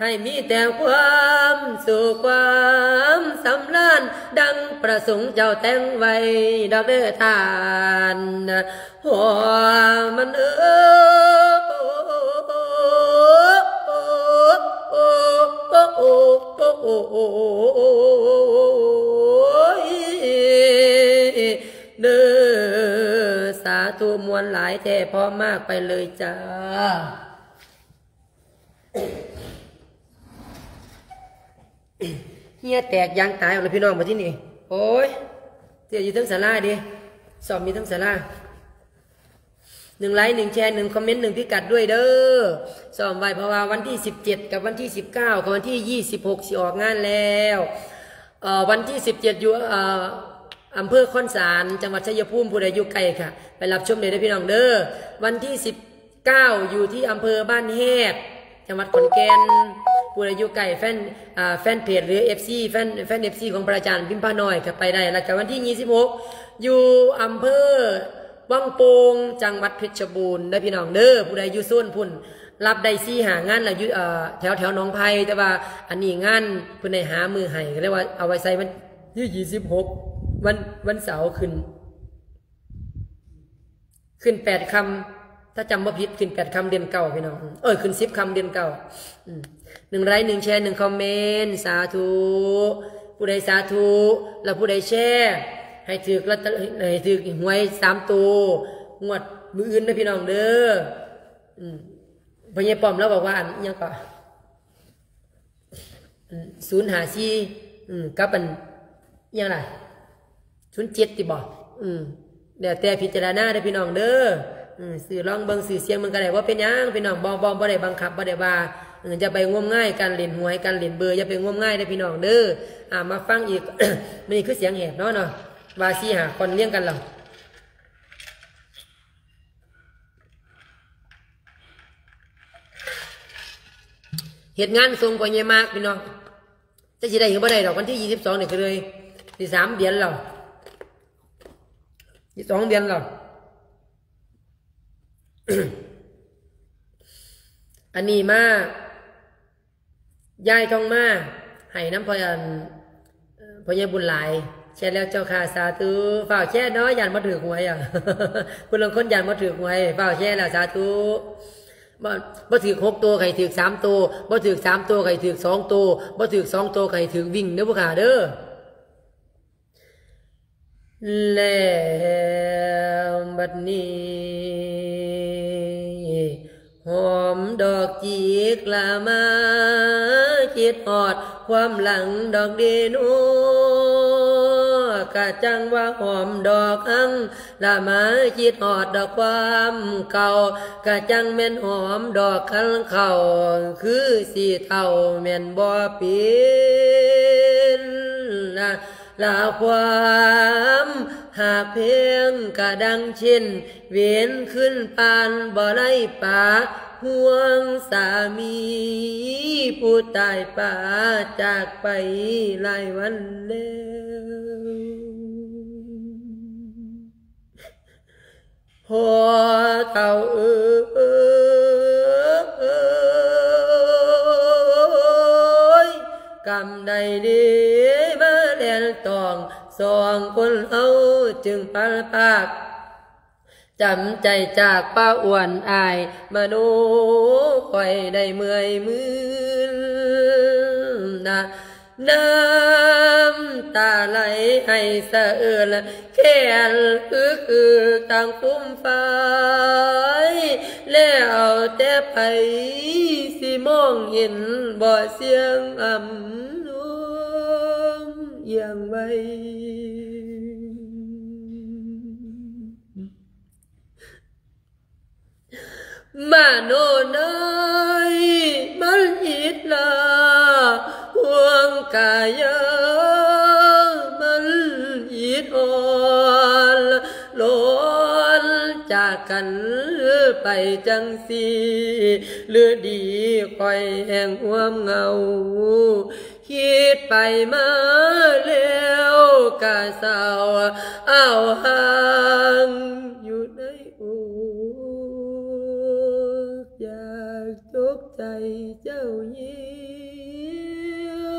ໃຫ້ມີແຕ່ຄວາມສຸກຄວາມສຳລານ ດັ່ງປະສົງເຈົ້າແຕ່ງໄວ້ດອກເດີທ່ານ ຫົວມັນເອີຍ ເດີ ສາທຸ ມ່ວນຫຼາຍແທ້ ເພາະມາກ ໄປເລີຍຈ້າ. ເຫື່ອແຕກຢາງຕາຍອອກແລ້ວພີ່ນ້ອງ ບັດທີນີ້ ໂອ້ຍ ເສຍຢູ່ເທິງສາລາເດ້ ຊ້ອມຢູ່ເທິງສາລາ ໜຶ່ງໄລຄ໌ ໜຶ່ງແຊຣ໌ ໜຶ່ງຄອມເມັນ ໜຶ່ງພິກັດດ້ວຍເດີ ຊ້ອມໄວ້ ເພາະວ່າວັນທີສິບເຈັດ ກັບວັນທີສິບເກົ້າ ກັບວັນທີຍີ່ສິບຫົກ ຊິອອກງານແລ້ວ ເອີ ວັນທີສິບເຈັດ ຢູ່ ເອີ ອຳເພີຄອນສານ ຈັງຫວັດໄຊຍະພູມ ຜູ້ໃດຢູ່ໃກ້ກະໄປຮັບຊົມໄດ້ເດີພີ່ນ້ອງເດີ ວັນທີສິບ ເກົ້າ ຢູ່ທີ່ອຳເພີບ້ານແຮດ ຈັງຫວັດຂອນແກ່ນ ຜູ້ໃດຢູ່ໃກ້ແຟນ ອ່າ ແຟນເພຈ ຫຼື ເອັຟຊີ ແຟນ ແຟນ ເອັຟຊີ ຂອງພະອາຈານພິມພານ້ອຍ ກະໄປໄດ້ ແລ້ວກະວັນທີຍີ່ສິບຫົກ ຢູ່ອຳເພີວັງໂປ່ງ ຈັງຫວັດເພັດຊະບູນເດີພີ່ນ້ອງເດີ ຜູ້ໃດຢູ່ໂຊນພຸ້ນ ຮັບໄດ້ສີ່ຫ້າງານລະ ຢູ່ ເອີ ແຖວ ແຖວໜອງໄຜ່ ແຕ່ວ່າອັນນີ້ງານເພິ່ນໄດ້ຫາມື້ໃຫ້ ກະເລີຍວ່າເອົາໄວ້ໃສ່ວັນທີຍີ່ສິບຫົກ ວັນ ວັນເສົາຂຶ້ນ ຂຶ້ນແປດຄ່ຳ ຖ້າຈຳບໍ່ຜິດ ຂຶ້ນແປດຄ່ຳເດືອນເກົ້າ ພີ່ນ້ອງ ເອີ ຂຶ້ນສິບຄ່ຳເດືອນເກົ້າ ອືມ ໜຶ່ງໄລຄ໌ ໜຶ່ງແຊຣ໌ ໜຶ່ງຄອມເມັນ ສາທຸ ຜູ້ໃດສາທຸ ແລ້ວຜູ້ໃດແຊຣ໌ ໃຫ້ຖືກລອດເຕີ ໃຫ້ຖືກຫວຍສາມໂຕ ງວດມື້ອື່ນເດີພີ່ນ້ອງເດີ ອືມ ພໍ່ໃຫຍ່ປ້ອມລາວບອກວ່າ ອັນ ອີ່ຫຍັງເກາະ ອັນ ສູນຫ້າສີ່ ອືມ ກັບອັນ ອີ່ຫຍັງລະ ສູນເຈັດ ຕິບໍ ອືມ ແລ້ວແຕ່ພິຈາລະນາເດີພີ່ນ້ອງເດີ ອືມ ຊື້ລອງເບິ່ງ ຊື້ສ່ຽງເບິ່ງກະໄດ້ ບໍ່ເປັນຫຍັງພີ່ນ້ອງ ບໍ່ ບໍ່ ບໍ່ໄດ້ບັງຄັບ ບໍ່ໄດ້ວ່າ ເອີ ຢ່າໄປງົມງາຍ ການເລ່ນຫວຍ ການເລ່ນເບີ ຢ່າໄປງົມງາຍເດີພີ່ນ້ອງເດີ ອ່າ ມາຟັງອີກ ມື້ນີ້ຄືສຽງແຫບເນາະ ເນາະ ວ່າສີ່ຫ້າຄອນລຽງກັນແລ້ວ. ເຮັດງານສົ່ງພໍ່ໃຫຍ່ມາກ ພີ່ນ້ອງ ຈັກຊິໄດ້ຫຼືບໍ່ໄດ້ດອກ ວັນທີຍີ່ສິບສອງນີ້ກະເລີຍ ຊິສາມເດືອນແລ້ວ ຊິສອງເດືອນແລ້ວ ອັນນີ້ມາ ຍາຍທອງມາ ໃຫ້ນຳພໍ່ ອັນ ພໍ່ໃຫຍ່ບຸນຫຼາຍ ແຊແລ້ວເຈົ້າຄ່າ ສາທຸ ຟ້າວແຊເນາະ ຢ້ານບໍ່ຖືກຫວຍ ຜູ້ລາງຄົນຢ້ານບໍ່ຖືກຫວຍ ຟ້າວແຊແລ້ວ ສາທຸ ບໍ່ ບໍ່ຖືກຫົກໂຕ ໃຫ້ຖືກສາມໂຕ ບໍ່ຖືກສາມໂຕ ໃຫ້ຖືກສອງໂຕ ບໍ່ຖືກສອງໂຕ ໃຫ້ຖືກວິ່ງເດີຜູ້ຂ້າເດີ. ແລ້ວບັດນີ້ ຫອມດອກຈິກລະມາ ຄິດຮອດຄວາມຫຼັງດອກເດໂນ ກະຈັ່ງວ່າຫອມດອກຮັງ ລະມາຄິດຮອດດອກຄວາມເກົ່າ ກະຈັ່ງແມ່ນຫອມດອກຄັນເຂົ້າ ຄືຊິເຖົ້າແມ່ນບໍ່ເປັນ ລະຄວາມຮັກແພງກະດັ່ງເຊັ່ນ ເວນຄືນປ່ານບໍ່ໄດ້ປາ ຫ່ວງສາມີ ຜູ້ຕາຍປາຈາກໄປຫຼາຍວັນແລ້ວ. ພໍ່ເຖົ້າເອີຍ ກຳໃດເດມາແລ່ນຕອງ ສອງຄົນເຮົາຈຶ່ງພັດພາກ ຈຳໃຈຈາກປ້າອ້ວນອ້າຍມະໂນ ຂ້ອຍໄດ້ເມື່ອຍມື່ນນະ ນ້ຳຕາໄຫຼໃຫ້ສະເອີນ ແຂນອຶກໆ ທາງຟຸມຟາຍ ແລ້ວແຕ່ໃຜຊິມອງເຫັນບໍ່ ສຽງອຳນວນອຽງໄວ. ມະໂນເອີຍ ມັນອິດລາ ຫ່ວງກາຍາ ມັນອິດອ່ອນ ລອນຈາກກັນໄປຈັ່ງຊີ້ ຫຼືດີຂ້ອຍແຮ່ງຮ່ວມເຫງົາ ຄິດໄປມາແລ້ວກະເສົ້າ ອ້າວຮ່າງຢູ່ໃນອົກ ຢາກຈົກໃຈເຈົ້າຍິ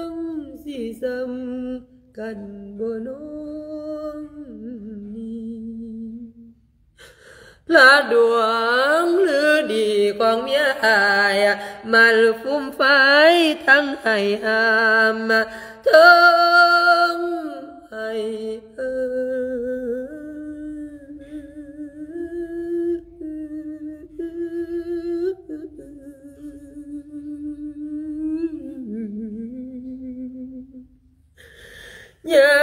ງ ຊິສ່ຳກັນບໍ່ນ້ອງນີ້. ລະດວງລືດີຂອງເມຍອ້າຍ ມັນຟຸມຟາຍທັງໄຫ້ຫ້າມ ເທິງໄຫ້ເອີຍ. ຍາ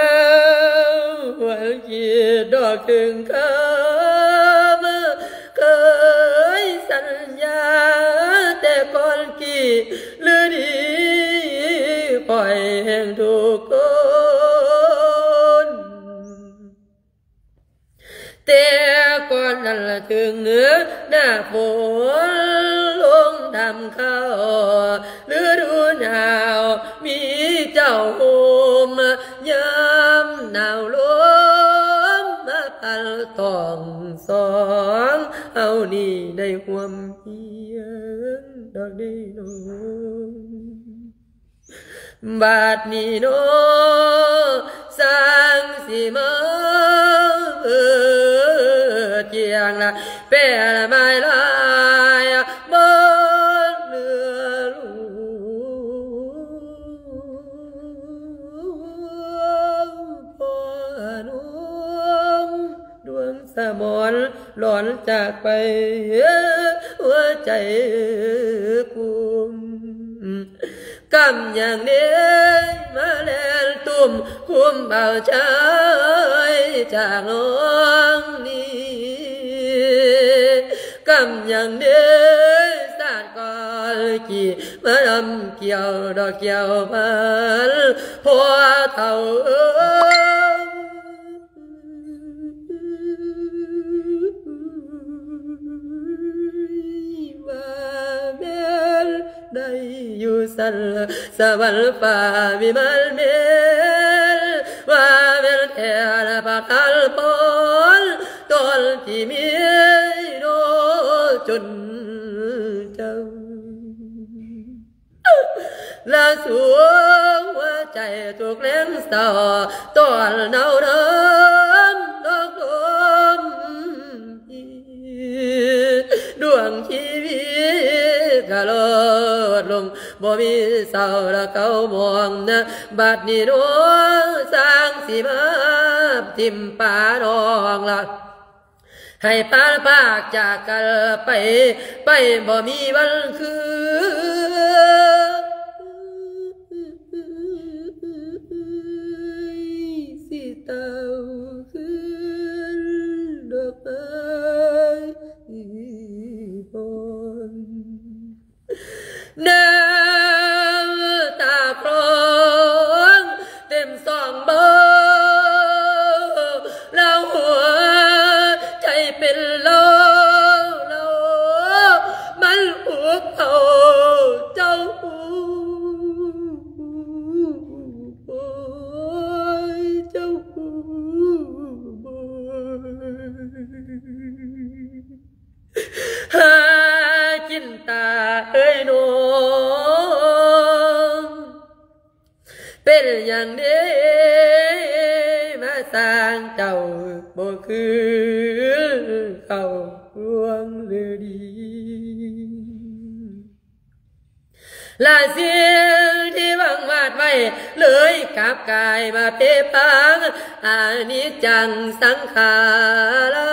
ມວັນຄິດດອກເຖິງຄຳ ເຄີຍສັນຍາແຕ່ກ່ອນກີ້ ຫຼືດີຂ້ອຍແຫ່ງທຸກຄົນ. ແຕ່ກ່ອນນັ້ນລະເຖິງໜ້າຝົນລົງດຳເຂົ້າ ລະດູໜາວມີເຈົ້າໂຮມ ຍາມໜາວລົມມາພັດຕ້ອງສອງ ເຮົານີ້ໄດ້ຮ່ວມຮຽນດອກເດນ້ອງ. ບາດນີ້ເນາະ ຊ່າງຊິມາເບີດກຽງລະ ແປລະໝາຍລາຍບໍ່ເຫຼືອລູກ ພໍ່ນ້ອງດວງສະໝອນ ຫຼອນຈາກໄປ ຫົວໃຈກຸ້ມ ກຳຍັງເດມາແລ່ນຕຸ້ມ ຄຸມເອົາໃຈຈາກນ້ອງນີ້ ກຳຍັງເດສາດກອນກີ້ ມານຳກ່ຽວດອກແກ້ວພັນ ພໍ່ເຖົ້າເອີຍ ວ່າແມ່ນໄດ້ຢູ່ຊັ້ນລະ ສະຫວັນຟ້າວິມານແມ່ນ ວ່າແມ່ນແທ້ລະປະທານພອນ ຕອນທີ່ມີໂນຈົນເຈົ້າ ລະສວງຫົວໃຈທຸກແລງເສົ້າ ຕອນໜາວນອນດອກລົມ ດວງຊີວິດກະລອດລົງ ບໍ່ມີເຊົ້າລະເກົ້າໂມງນະ ບັດນີ້ນ້ອງຊ່າງຊິມາຖິ້ມປານ້ອງລະ ໃຫ້ປານພາກຈາກກັນໄປ ໄປບໍ່ມີວັນຄືນ ຊິເຕົ້າຄືນດອກໄມ້ບອນ ນ້ຳຕາຄລອງເຕັມສອງເບົ້າ ລາວຫົວໃຈເປັນລາວ ລາວມັນອຸກເຂົາ ເປັນຫຍັງເດມາສ້າງເຈົ້າບໍ່ຄືເກົ່າ ດວງລືດີ ລະສິ່ງທີ່ຫວັງວາດໄວ້ ເລີຍກັບກາຍມາເພພັງ ອະນິດຈັງສັງຂາລາ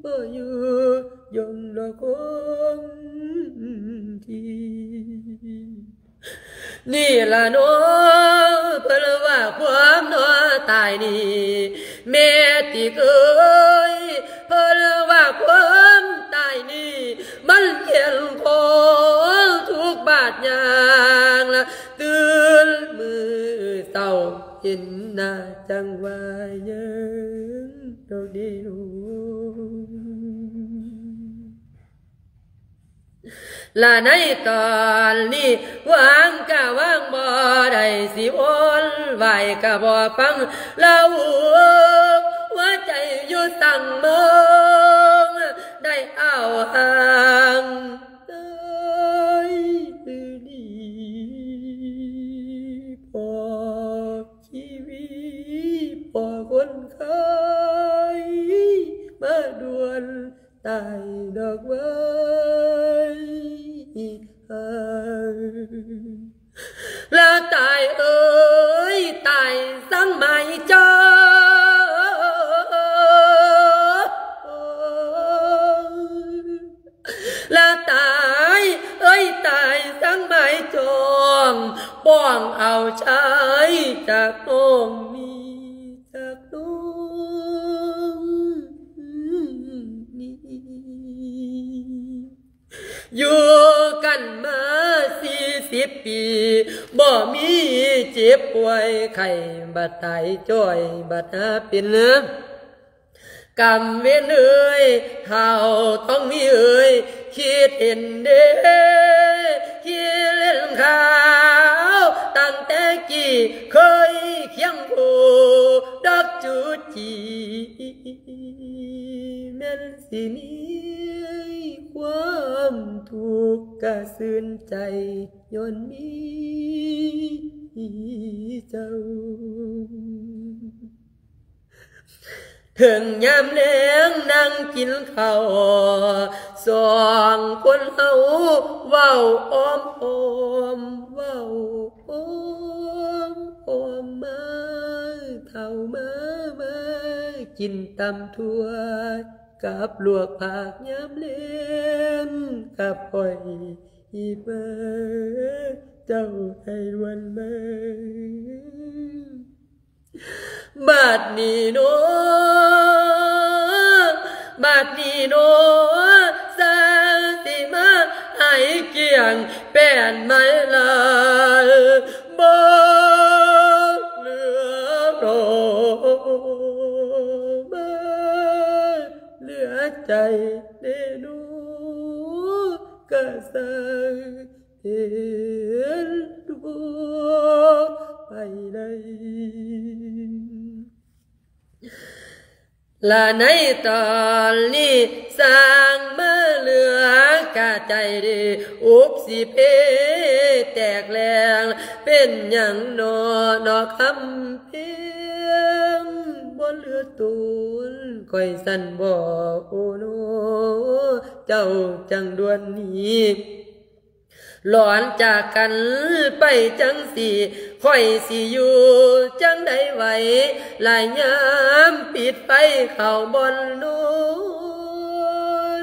ບໍ່ຢູ່ຍົງດອກຄົງທີ່ ນີ້ລະເນາະ ເພິ່ນວ່າຄວາມເນາະຕາຍນີ້ ແມ່ຕິເອີຍ ເພິ່ນວ່າຄວາມຕາຍນີ້ ມັນຂຽນຂອງທຸກບາດຍ່າງລະ ຕື່ນມື້ເຊົ້າເຫັນໜ້າ ຈັ່ງວ່າຍັງດອກເດໂລ ລະໃນຕອນນີ້ ຫວັງກະຫວັງບໍ່ໄດ້ ຊິວົນວາຍກະບໍ່ຟັງ ລະຫົວໃຈຢູ່ສັງເມືອງ ໄດ້ອ້າວຫາງເອີຍ ຄືດີພໍຊີວິດ ພໍຄົນໄຂ້ ມາດ່ວນ ຕາຍດອກເວີຍ ລະຕາຍເອີຍ ຕາຍສັງໝາຍຈອງ ລະຕາຍເອີຍ ຕາຍສັງໝາຍຈອງ ປ້ອງເອົາຊາຍຈາກນ້ອງນີ້ ຈາກນ້ອງນີ້ ຢູ່ກັນມາສີ່ສິບປີ ບໍ່ມີເຈັບປ່ວຍໄຂ້ ບັດຕາຍຈ້ອຍ ບັດຫາເປັນກຳເວນເອີຍ ທ້າວທອງມີເອີຍ ຄິດເຫັນເດ້ ຄິດເຫັນຂ່າວ ຕັ້ງແຕ່ກີ້ເຄີຍຄຽງຄູ່ ດອກຈູຈີ ແມ່ນຊິມີຄວາມທຸກກະຊື່ນໃຈ ຍ້ອນມີເຈົ້າ ເຖິງຍາມແລງນັ່ງກິນເຂົ້າ ສອງຄົນເຮົາເວົ້າອ້ອມໆ ເວົ້າອ້ອມໆ ມາເຖົ້າມາ ມາກິນຕຳຖົ່ວ ກັບລວກຜັກຍາມແລງ ກັບອ້ອຍອີກມາ ເຈົ້າໄດ້ລວນມາ ບາດນີ້ເນາະ ບາດນີ້ເນາະ ຊ່າງຊິມາໃຫ້ກ້ຽງ ແປ້ນໄມ້ລາຍ ບໍ່ເຫຼືອດອກ ມາເຫຼືອໃຈເດໂນ ກະຊ່າງເຫັນຕົວໄປໄດ້ ລະໃນຕອນນີ້ ຊ່າງມາເຫຼືອກະໃຈດີ ອຸບຊິເພແຕກແຫຼງ ເປັນຫຍັງເນາະ ເນາະຄຳເພັງ ບໍ່ເຫຼືອຕົນຂ້ອຍຊັ້ນບໍ ໂອເນາະ ເຈົ້າຈັ່ງດ່ວນໜີ ຫຼອນຈາກກັນໄປຈັ່ງຊີ້ ຂ້ອຍຊິຢູ່ຈັ່ງໃດໄຫວ ລະຍາມປິດໄຟເຂົ້າບ່ອນນອ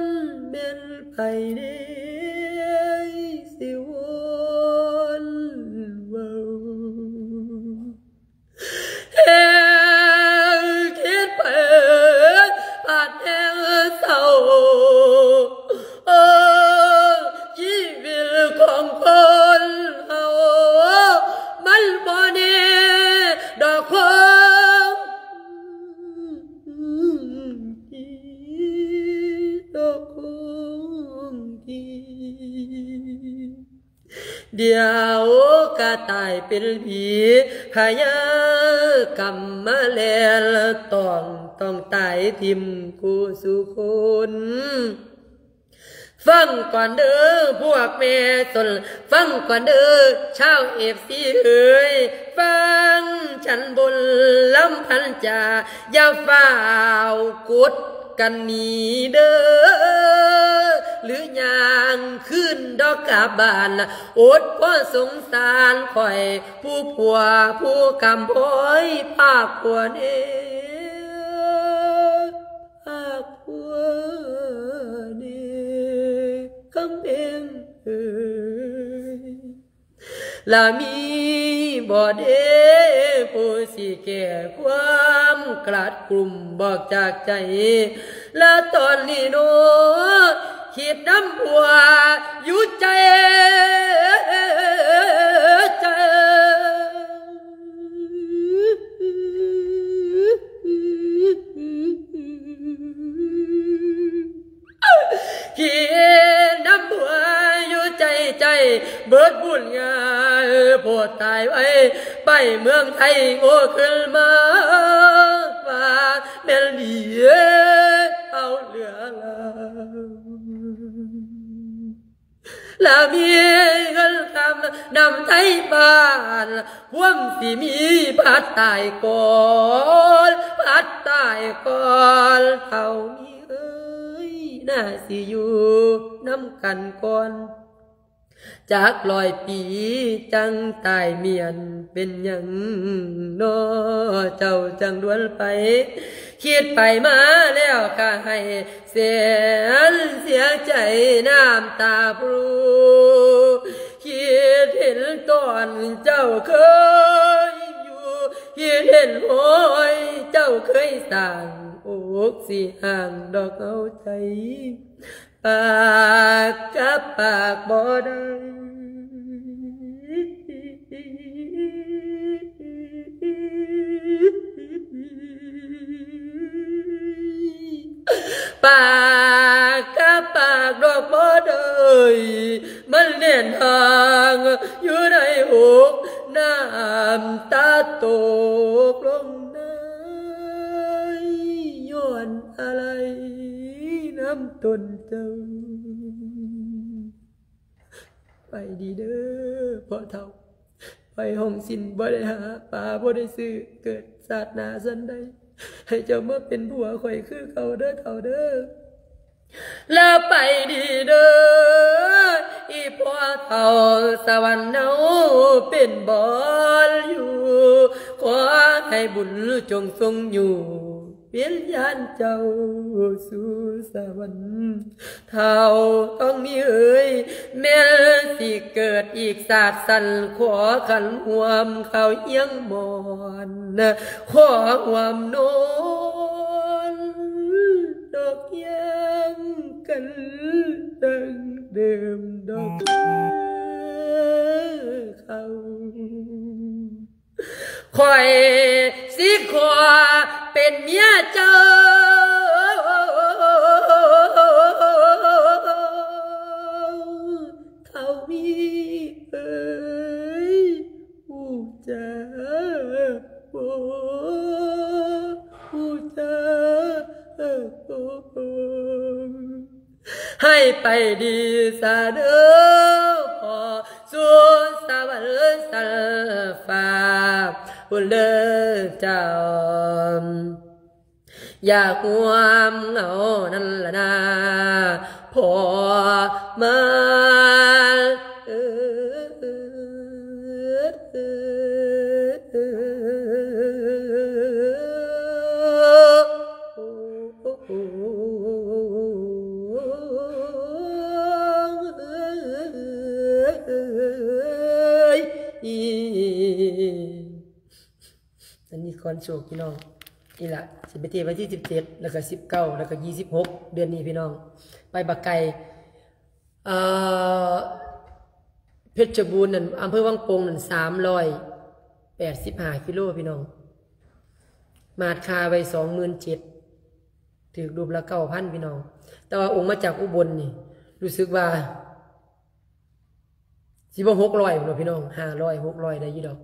ນ ແມ່ນໃຜເດຊິວອນເວົ້າ ແຮງຄິດໄປ ບາດແຮງເສົ້າ ໂອ້ ຊີວິດຂອງຄົນເຮົາ ມັນບໍ່ແນ່ດອກຄົງທີ່ ດອກຄົງທີ່ ດຽວກະຕາຍເປັນຜີ ພະຍາກຳມາແລ່ນຕ້ອງ ຕ້ອງຕາຍຖິ້ມຄູ່ສູ່ຄົນ. ຟັງກ່ອນເດີ້ພວກແມ່ຊົນ ຟັງກ່ອນເດີ້ຊາວເອັຟຊີເອີຍ ຟັງສັນບົນລຳພັນຈາ ຢ່າຟ້າວກົດກັນໜີເດີ້ ຫຼືຍ່າງຄືນດອກກັບບ້ານ ອົດພໍສົງສານຂ້ອຍ ຜູ້ຜົວຜູ້ກຳພ້ອຍພາກຜົວແດ່ ພາກຜົວແດ່ ຄຳແພງເອີຍ ລະມີບໍ່ເດ ຜູ້ຊິແກ້ຄວາມກະດກຸ່ມບອກຈາກໃຈ ລະຕອນນີ້ເນາະ ຄິດນຳຜົວຢູ່ໃຈ ໃຈ ຄິດນຳຜົວຢູ່ໃຈ ໃຈເບິດບຸນງານ ໂພດຕາຍໄວ ໄປເມືອງໄທໂງ່ຂຶ້ນມາ ວ່າແມ່ນດີເອົາເຫຼືອລາວ ລະມີເງິນຄຳນຳໄທບ້ານ ຄວາມຊິມີພັດຕາຍກ່ອນ ພັດຕາຍກ່ອນ ເຖົ້າມີເອີຍ ໜ້າຊິຢູ່ນຳກັນກ່ອນ ຈັກຮ້ອຍປີຈັ່ງຕາຍມ້ຽນ ເປັນຫຍັງນໍເຈົ້າຈັ່ງດ່ວນໄປ ຄິດໄປມາແລ້ວກະໃຫ້ ແສນເສຍໃຈນ້ຳຕາພຣູ ຄິດເຫັນຕອນເຈົ້າເຄີຍຢູ່ ຄິດເຫັນຮອຍເຈົ້າເຄີຍສ້າງ ອົກຊິຫ່າງດອກເອົາໃຈ ປາກກັບປາກບໍ່ໄດ້ ປາກກັບປາກດອກບໍ່ໄດ້ ມັນແໜ້ນຫາງຢູ່ໃນອົກ ນ້ຳຕາຕົກລົງໃນ ຍ້ອນອາໄລນຳຕົນເຈົ້າ. ໄປດີເດີ້ພໍ່ເຖົ້າ ໄປຫ້ອງສິນບໍ່ໄດ້ຫາ ປາບໍ່ໄດ້ຊື້ ເກີດຊາດໜ້າສັນໃດ ໃຫ້ເຈົ້າມາເປັນຜົວຂ້ອຍຄືເກົ່າເດີ້ເຖົ້າເດີ້ ລະໄປດີເດີ້ ອີ່ພໍ່ເຖົ້າ ສະຫວັນເຮົາເປັນບ່ອນຢູ່ ຂໍໃຫ້ບຸນຈົ່ງຊົງຢູ່ ວິນຍານເຈົ້າສູ່ສະຫວັນ ເຖົ້າທອງມີເອີຍ ແມ່ນຊິເກີດອີກຊາດສັນ ຂໍຂັນຮ່ວມເຂົ້າຮຽງໝອນ ຂໍຮ່ວມນອນດອກຮຽງກັນດັ່ງເດີມດອກເດີເຂົາ. ຂ້ອຍຊິຂໍເປັນເມຍເຈົ້າ ເຖົ້າມີເອີຍ ຮູ້ຈັກບໍ່ ຮູ້ຈັກບໍ່. ໃຫ້ໄປດີສາເດີ້ພໍ່ ສູ່ສະຫວັນຊັ້ນຟ້າພຸ້ນເດີ້ເຈົ້າ ຢາກຮ່ວມເງົານັ້ນລະນາ ພໍ່ມາເອີຍ. ອັນນີ້ກ່ອນໂຊກພີ່ນ້ອງ ນີ້ລະ ຊິໄປເທດວັນທີສິບເຈັດ ແລ້ວກະສິບເກົ້າ ແລ້ວກະຊາວຫົກ ເດືອນນີ້ພີ່ນ້ອງ ໄປບັກໄກ່ ເອີ ເພັດຊະບູນນັ້ນ ອຳເພີວັງໂປ່ງນັ້ນ ສາມຮ້ອຍແປດສິບຫ້າກິໂລພີ່ນ້ອງ ມາດຄ່າໄວ້ສອງໝື່ນເຈັດ ຖືກຮູບລະເກົ້າພັນພີ່ນ້ອງ ແຕ່ວ່າອົງມາຈາກອຸບົນນີ້ ຮູ້ສຶກວ່າ ຊິບໍ່ຫົກຮ້ອຍພຸ້ນບໍ່ພີ່ນ້ອງ ຫ້າຮ້ອຍ ຫົກຮ້ອຍໄດ້ຢູ່ດອກ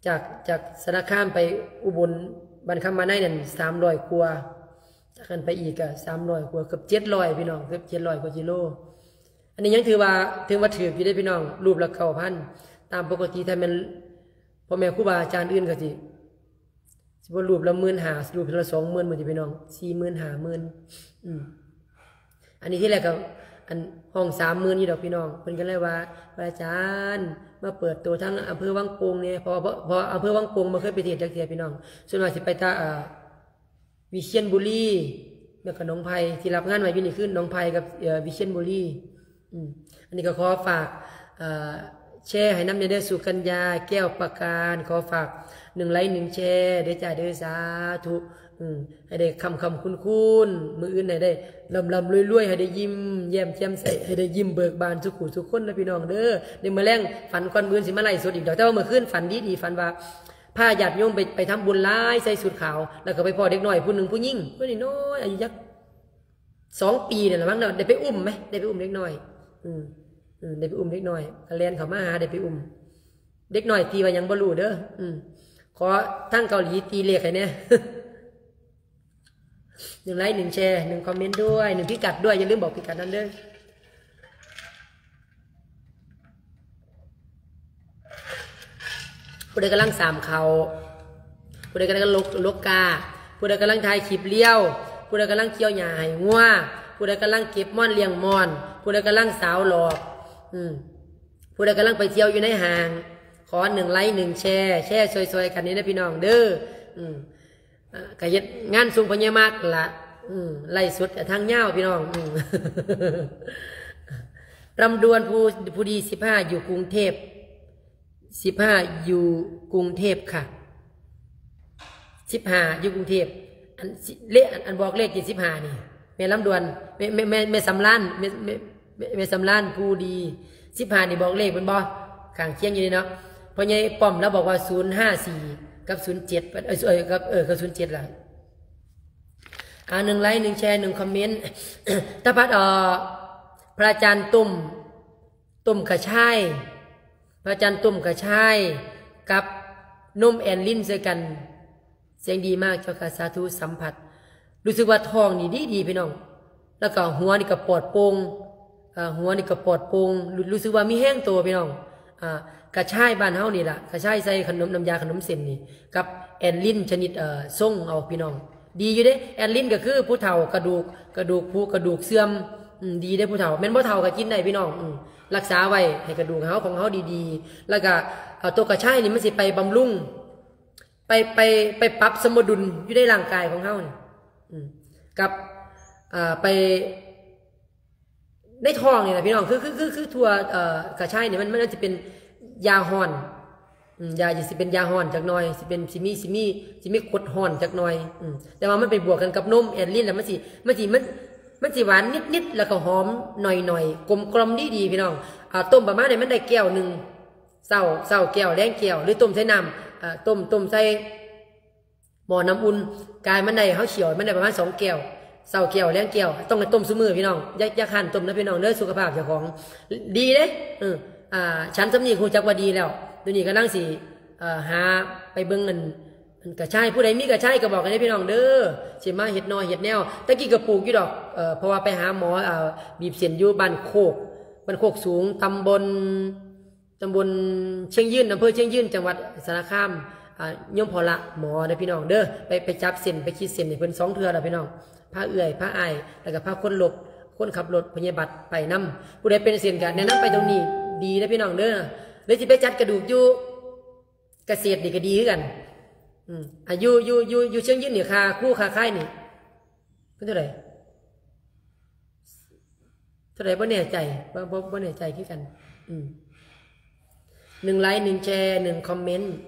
ຈາກ ຈາກສາລະຄາມໄປອຸບົນ ບ້ານຄຳມາໄນນັ້ນສາມຮ້ອຍກວ່າ, ຈາກນັ້ນໄປອີກກໍສາມຮ້ອຍກວ່າ ເກືອບເຈັດຮ້ອຍພີ່ນ້ອງ, ເກືອບເຈັດຮ້ອຍກວ່າກິໂລ. ອັນນີ້ຍັງຖືວ່າ ຖືວ່າຖືກຢູ່ເດ້ພີ່ນ້ອງ, ຮູບລະເກົ້າພັນ. ຕາມປົກກະຕິຖ້າແມ່ນພໍ່ແມ່ຄູບາອາຈານອື່ນກໍຊິ ຊິບໍ່ຮູບລະໝື່ນຫ້າ ຮູບລະສອງໝື່ນ ມື້ນີ້ພີ່ນ້ອງ ສີ່ໝື່ນ ຫ້າໝື່ນ. ອືມ ອັນນີ້ທີແລກກໍ ອັນ ຫ້ອງສາມໝື່ນຢູ່ດອກພີ່ນ້ອງ. ເພິ່ນກໍເລີຍວ່າ ພະອາຈານ ມາເປີດໂຕທາງອຳເພີວັງໂປ່ງແດ່ ເພາະວ່າ ເພາະອຳເພີວັງໂປ່ງບໍ່ເຄີຍໄປເທດຈັກເທື່ອພີ່ນ້ອງ, ສ່ວນມາກຊິໄປແຕ່ ເອີ ວິຊຽນບູລີ ແລ້ວກໍໜອງໄຜ່. ທີ່ຮັບງານໄວ້ຢູ່ນີ້ຄືໜອງໄຜ່ກັບ ເອີ ວິຊຽນບູລີ. ອືມ ອັນນີ້ກໍຂໍຝາກ ເອີ ແຊໃຫ້ນຳແດ່ເດີ ສຸກັນຍາ ແກ້ວປາການ. ຂໍຝາກໜຶ່ງໄລຄ໌ໜຶ່ງແຊເດີຈ້າເດີ ສາທຸ. ອືມ ໃຫ້ໄດ້ຄ້ຳໆຄູນໆ ມື້ອື່ນໃຫ້ໄດ້ລ່ຳໆລວຍໆ ໃຫ້ໄດ້ຍິ້ມແຍ້ມແຈ່ມໃສ ໃຫ້ໄດ້ຍິ້ມເບີກບານສູ່ຄູ່ສູ່ຄົນນະພີ່ນ້ອງເດີ. ໃນມື້ແລງຝັນກ່ອນ ມື້ອື່ນຊິມາໄລຟ໌ສົດອີກດອກ, ແຕ່ວ່າມື້ຄືນຝັນດີໆ ຝັນວ່າພາຍາດໂຍມໄປ ໄປທຳບຸນຫຼາຍ ໃສ່ຊຸດຂາວ ແລ້ວກໍໄປພໍ້ເດັກນ້ອຍຜູ້ໜຶ່ງ ຜູ້ຍິງ ຜູ້ນ້ອຍໆ ອາຍຸຈັກ ສອງປີນີ້ລະມັງເນາະ, ໄດ້ໄປອຸ້ມໄໝ ໄດ້ໄປອຸ້ມເດັກນ້ອຍ. ອືມ ອືມ ໄດ້ໄປອຸ້ມເດັກນ້ອຍ ກໍແລ່ນເຂົ້າມາຫາ ໄດ້ໄປອຸ້ມເດັກນ້ອຍ. ຕີວ່າຫຍັງບໍ່ຮູ້ເດີ. ອືມ ຂໍທາງເກົາຫຼີຕີເລກໃຫ້ແດ່. ໜຶ່ງໄລຄ໌ໜຶ່ງແຊ ໜຶ່ງຄອມເມັນດ້ວຍ ໜຶ່ງພິກັດດ້ວຍ, ຢ່າລືມບອກພິກັດນຳເດີ. ຜູ້ໃດກຳລັງສາມເຂົ້າ, ຜູ້ໃດກຳລັງລົກ ລົກກ້າ, ຜູ້ໃດກຳລັງຖ່າຍຄລິບລຽວ, ຜູ້ໃດກຳລັງກ່ຽວຫຍ້າໃຫ້ງົວ, ຜູ້ໃດກຳລັງເກັບມ່ອນລ້ຽງມ່ອນ, ຜູ້ໃດກຳລັງສາວຫຼອກ, ອືມ ຜູ້ໃດກຳລັງໄປທ່ຽວຢູ່ໃນຫ້າງ, ຂໍໜຶ່ງໄລຄ໌ໜຶ່ງແຊ, ແຊຊ່ອຍໆກັນນີ້ນະພີ່ນ້ອງເດີ. ອືມ ເອີ ກະເຮັດງານສົ່ງພະຍາມາກລະ ອືມ ໄລຟ໌ສົດທາງຍາວພີ່ນ້ອງ. ອືມ ລຳດວນ ຜູ້ ຜູ້ດີ ສິບຫ້າ ຢູ່ກຸງເທບ, ສິບຫ້າ ຢູ່ກຸງເທບຄ່ະ, ສິບຫ້າ ຢູ່ກຸງເທບ. ອັນ ເລກ ອັນ ອັນບອກເລກທີ່ສິບຫ້ານີ້ ແມ່ລຳດວນ ແມ່ ແມ່ ແມ່ ແມ່ສຳລານ ແມ່ ແມ່ ແມ່ສຳລານ ຜູ້ດີ. ສິບຫ້ານີ້ບອກເລກແມ່ນບໍ່? ຂ້າງຄຽງຢູ່ນີ້ເນາະ. ພໍ່ໃຫຍ່ປ້ອມລາວບອກວ່າ ສູນຫ້າສີ່ ກັບ ສູນເຈັດ ເອີ ເອີ ກັບ ເອີ ກັບ ສູນເຈັດ ລະ. ອ່າ ໜຶ່ງໄລຄ໌ ໜຶ່ງແຊ ໜຶ່ງຄອມເມັນ. ຕາພັດ ເອີ ພະອາຈານຕົ້ມ ຕົ້ມກະຊາຍ, ພະອາຈານຕົ້ມກະຊາຍກັບນົມແອນລິນໃສ່ກັນ ສຽງດີມາກເຈົ້າຄ່ະ ສາທຸສຳຜັດ. ຮູ້ສຶກວ່າທ້ອງນີ້ດີໆ ພີ່ນ້ອງ, ແລ້ວກໍຫົວນີ້ກໍປອດໂປ່ງ, ເອີ ຫົວນີ້ກໍປອດໂປ່ງ, ຮູ້ ຮູ້ສຶກວ່າມີແຮງໂຕ ພີ່ນ້ອງ. ອ່າ ກະຊາຍບ້ານເຮົານີ້ລະ, ກະຊາຍໃສ່ຂະໜົມ ນ້ຳຢາຂະໜົມເສັ້ນນີ້ ກັບແອນລິນຊະນິດ ເອີ ຊົງເອົາ ພີ່ນ້ອງ. ດີຢູ່ເດ້ ແອນລິນກໍຄືຜູ້ເຖົ້າ ກະດູກ ກະດູກຜຸ ກະດູກເສື່ອມ. ອືມ ດີເດ້ຜູ້ເຖົ້າ, ແມ່ນບໍ່ເຖົ້າກໍກິນໄດ້ ພີ່ນ້ອງ. ອືມ ລັກສາໄວ້ໃຫ້ກະດູກເຮົາ ຂອງເຮົາດີໆ. ແລ້ວກໍ ເອີ ຕົວກະຊາຍນີ້ມັນຊິໄປບຳລຸງ ໄປ ໄປ ໄປປັບສົມດຸນຢູ່ໃນຮ່າງກາຍຂອງເຮົານີ້ ອືມ ກັບ ເອີ ໄປໃນທ້ອງນີ້ລະ ພີ່ນ້ອງ. ຄື ຄື ຄື ຄືຖົ່ວ ເອີ ກະຊາຍນີ້ ມັນ ມັນ ມັນຊິເປັນຢາຮ້ອນ ອືມ ຢາ ຊິເປັນຢາຮ້ອນຈັກໜ່ອຍ, ຊິເປັນ ຊິມີ ຊິມີ ຊິມີກົດຮ້ອນຈັກໜ່ອຍ. ອືມ ແຕ່ວ່າມັນໄປບວກກັນກັບນົມແອນລິນ ແລ້ວມັນຊິ ມັນຊິ ມັນ ມັນຊິຫວານນິດໆ ແລ້ວກໍຫອມໜ້ອຍໆ ກົມກ່ອມດີໆ ພີ່ນ້ອງ. ອ່າ ຕົ້ມປະມານໃຫ້ມັນໄດ້ແກ້ວໜຶ່ງ ເຊົ້າ ເຊົ້າແກ້ວ ແລງແກ້ວ ຫຼືຕົ້ມໃສ່ນ້ຳ ເອີ ຕົ້ມ ຕົ້ມໃສ່ໝໍ້ນ້ຳອຸ່ນ. ກາຍມັນໄດ້ ເຮົາຂ້ຽວມັນໄດ້ປະມານສອງແກ້ວ ເຊົ້າແກ້ວ ແລງແກ້ວ. ຕ້ອງໃຫ້ຕົ້ມຊຸມື້ ພີ່ນ້ອງ, ຢ່າ ຢ່າຄ້ານຕົ້ມນະ ພີ່ນ້ອງເດີ, ສຸຂະພາບເຈົ້າຂອງດີເດ້. ເອີ ອ່າ ສັນສຳນີດຮູ້ຈັກວ່າດີແລ້ວ. ດຽວນີ້ກຳລັງຊິ ເອີ ຫາໄປເບິ່ງອັນ ອັນກະຊາຍ, ຜູ້ໃດມີກະຊາຍກໍບອກກັນເດ້ ພີ່ນ້ອງເດີ, ຊິມາເຮັດໜໍ່ເຮັດແນວ. ແຕ່ກີ້ກໍປູກຢູ່ດອກ ເອີ ເພາະວ່າໄປຫາໝໍ ເອີ ບີບເສັ້ນຢູ່ບ້ານໂຄກ ບ້ານໂຄກສູງ ຕຳບົນ ຕຳບົນຊຽງຍືນ ອຳເພີຊຽງຍືນ ຈັງຫວັດສາລະຄາມ. ອ່າ ໂຍມພໍ່ລະໝໍເດີ ພີ່ນ້ອງເດີ, ໄປ ໄປຈັບເສັ້ນ ໄປຂີດເສັ້ນໃຫ້ເພິ່ນສອງເທື່ອແລ້ວ ພີ່ນ້ອງ. ພາເອື້ອຍ ພາອ້າຍ ແລ້ວກໍພາຄົນລົບ ຄົນຂັບລົດ ພະຍາບາດໄປນຳ. ຜູ້ໃດເປັນເສັ້ນກໍແນະນຳໄປຕົງນີ້ ດີເດີ ພີ່ນ້ອງເດີ. ຫຼືຊິໄປຈັດກະດູກຢູ່ກະເສດນີ້ກໍດີຄືກັນ. ອືມ ອ່າ ຢູ່ ຢູ່ ຢູ່ ຢູ່ຊຽງຍືນນີ້ ຄ່າຄູຄ່າຂາຍນີ້ເປັນເທົ່າໃດ? ເທົ່າໃດບໍ່ແນ່ໃຈ ບໍ່ ບໍ່ ບໍ່ແນ່ໃຈຄືກັນ. ອືມ ໜຶ່ງໄລຄ໌ ໜຶ່ງແຊ ໜຶ່ງຄອມເມັນ.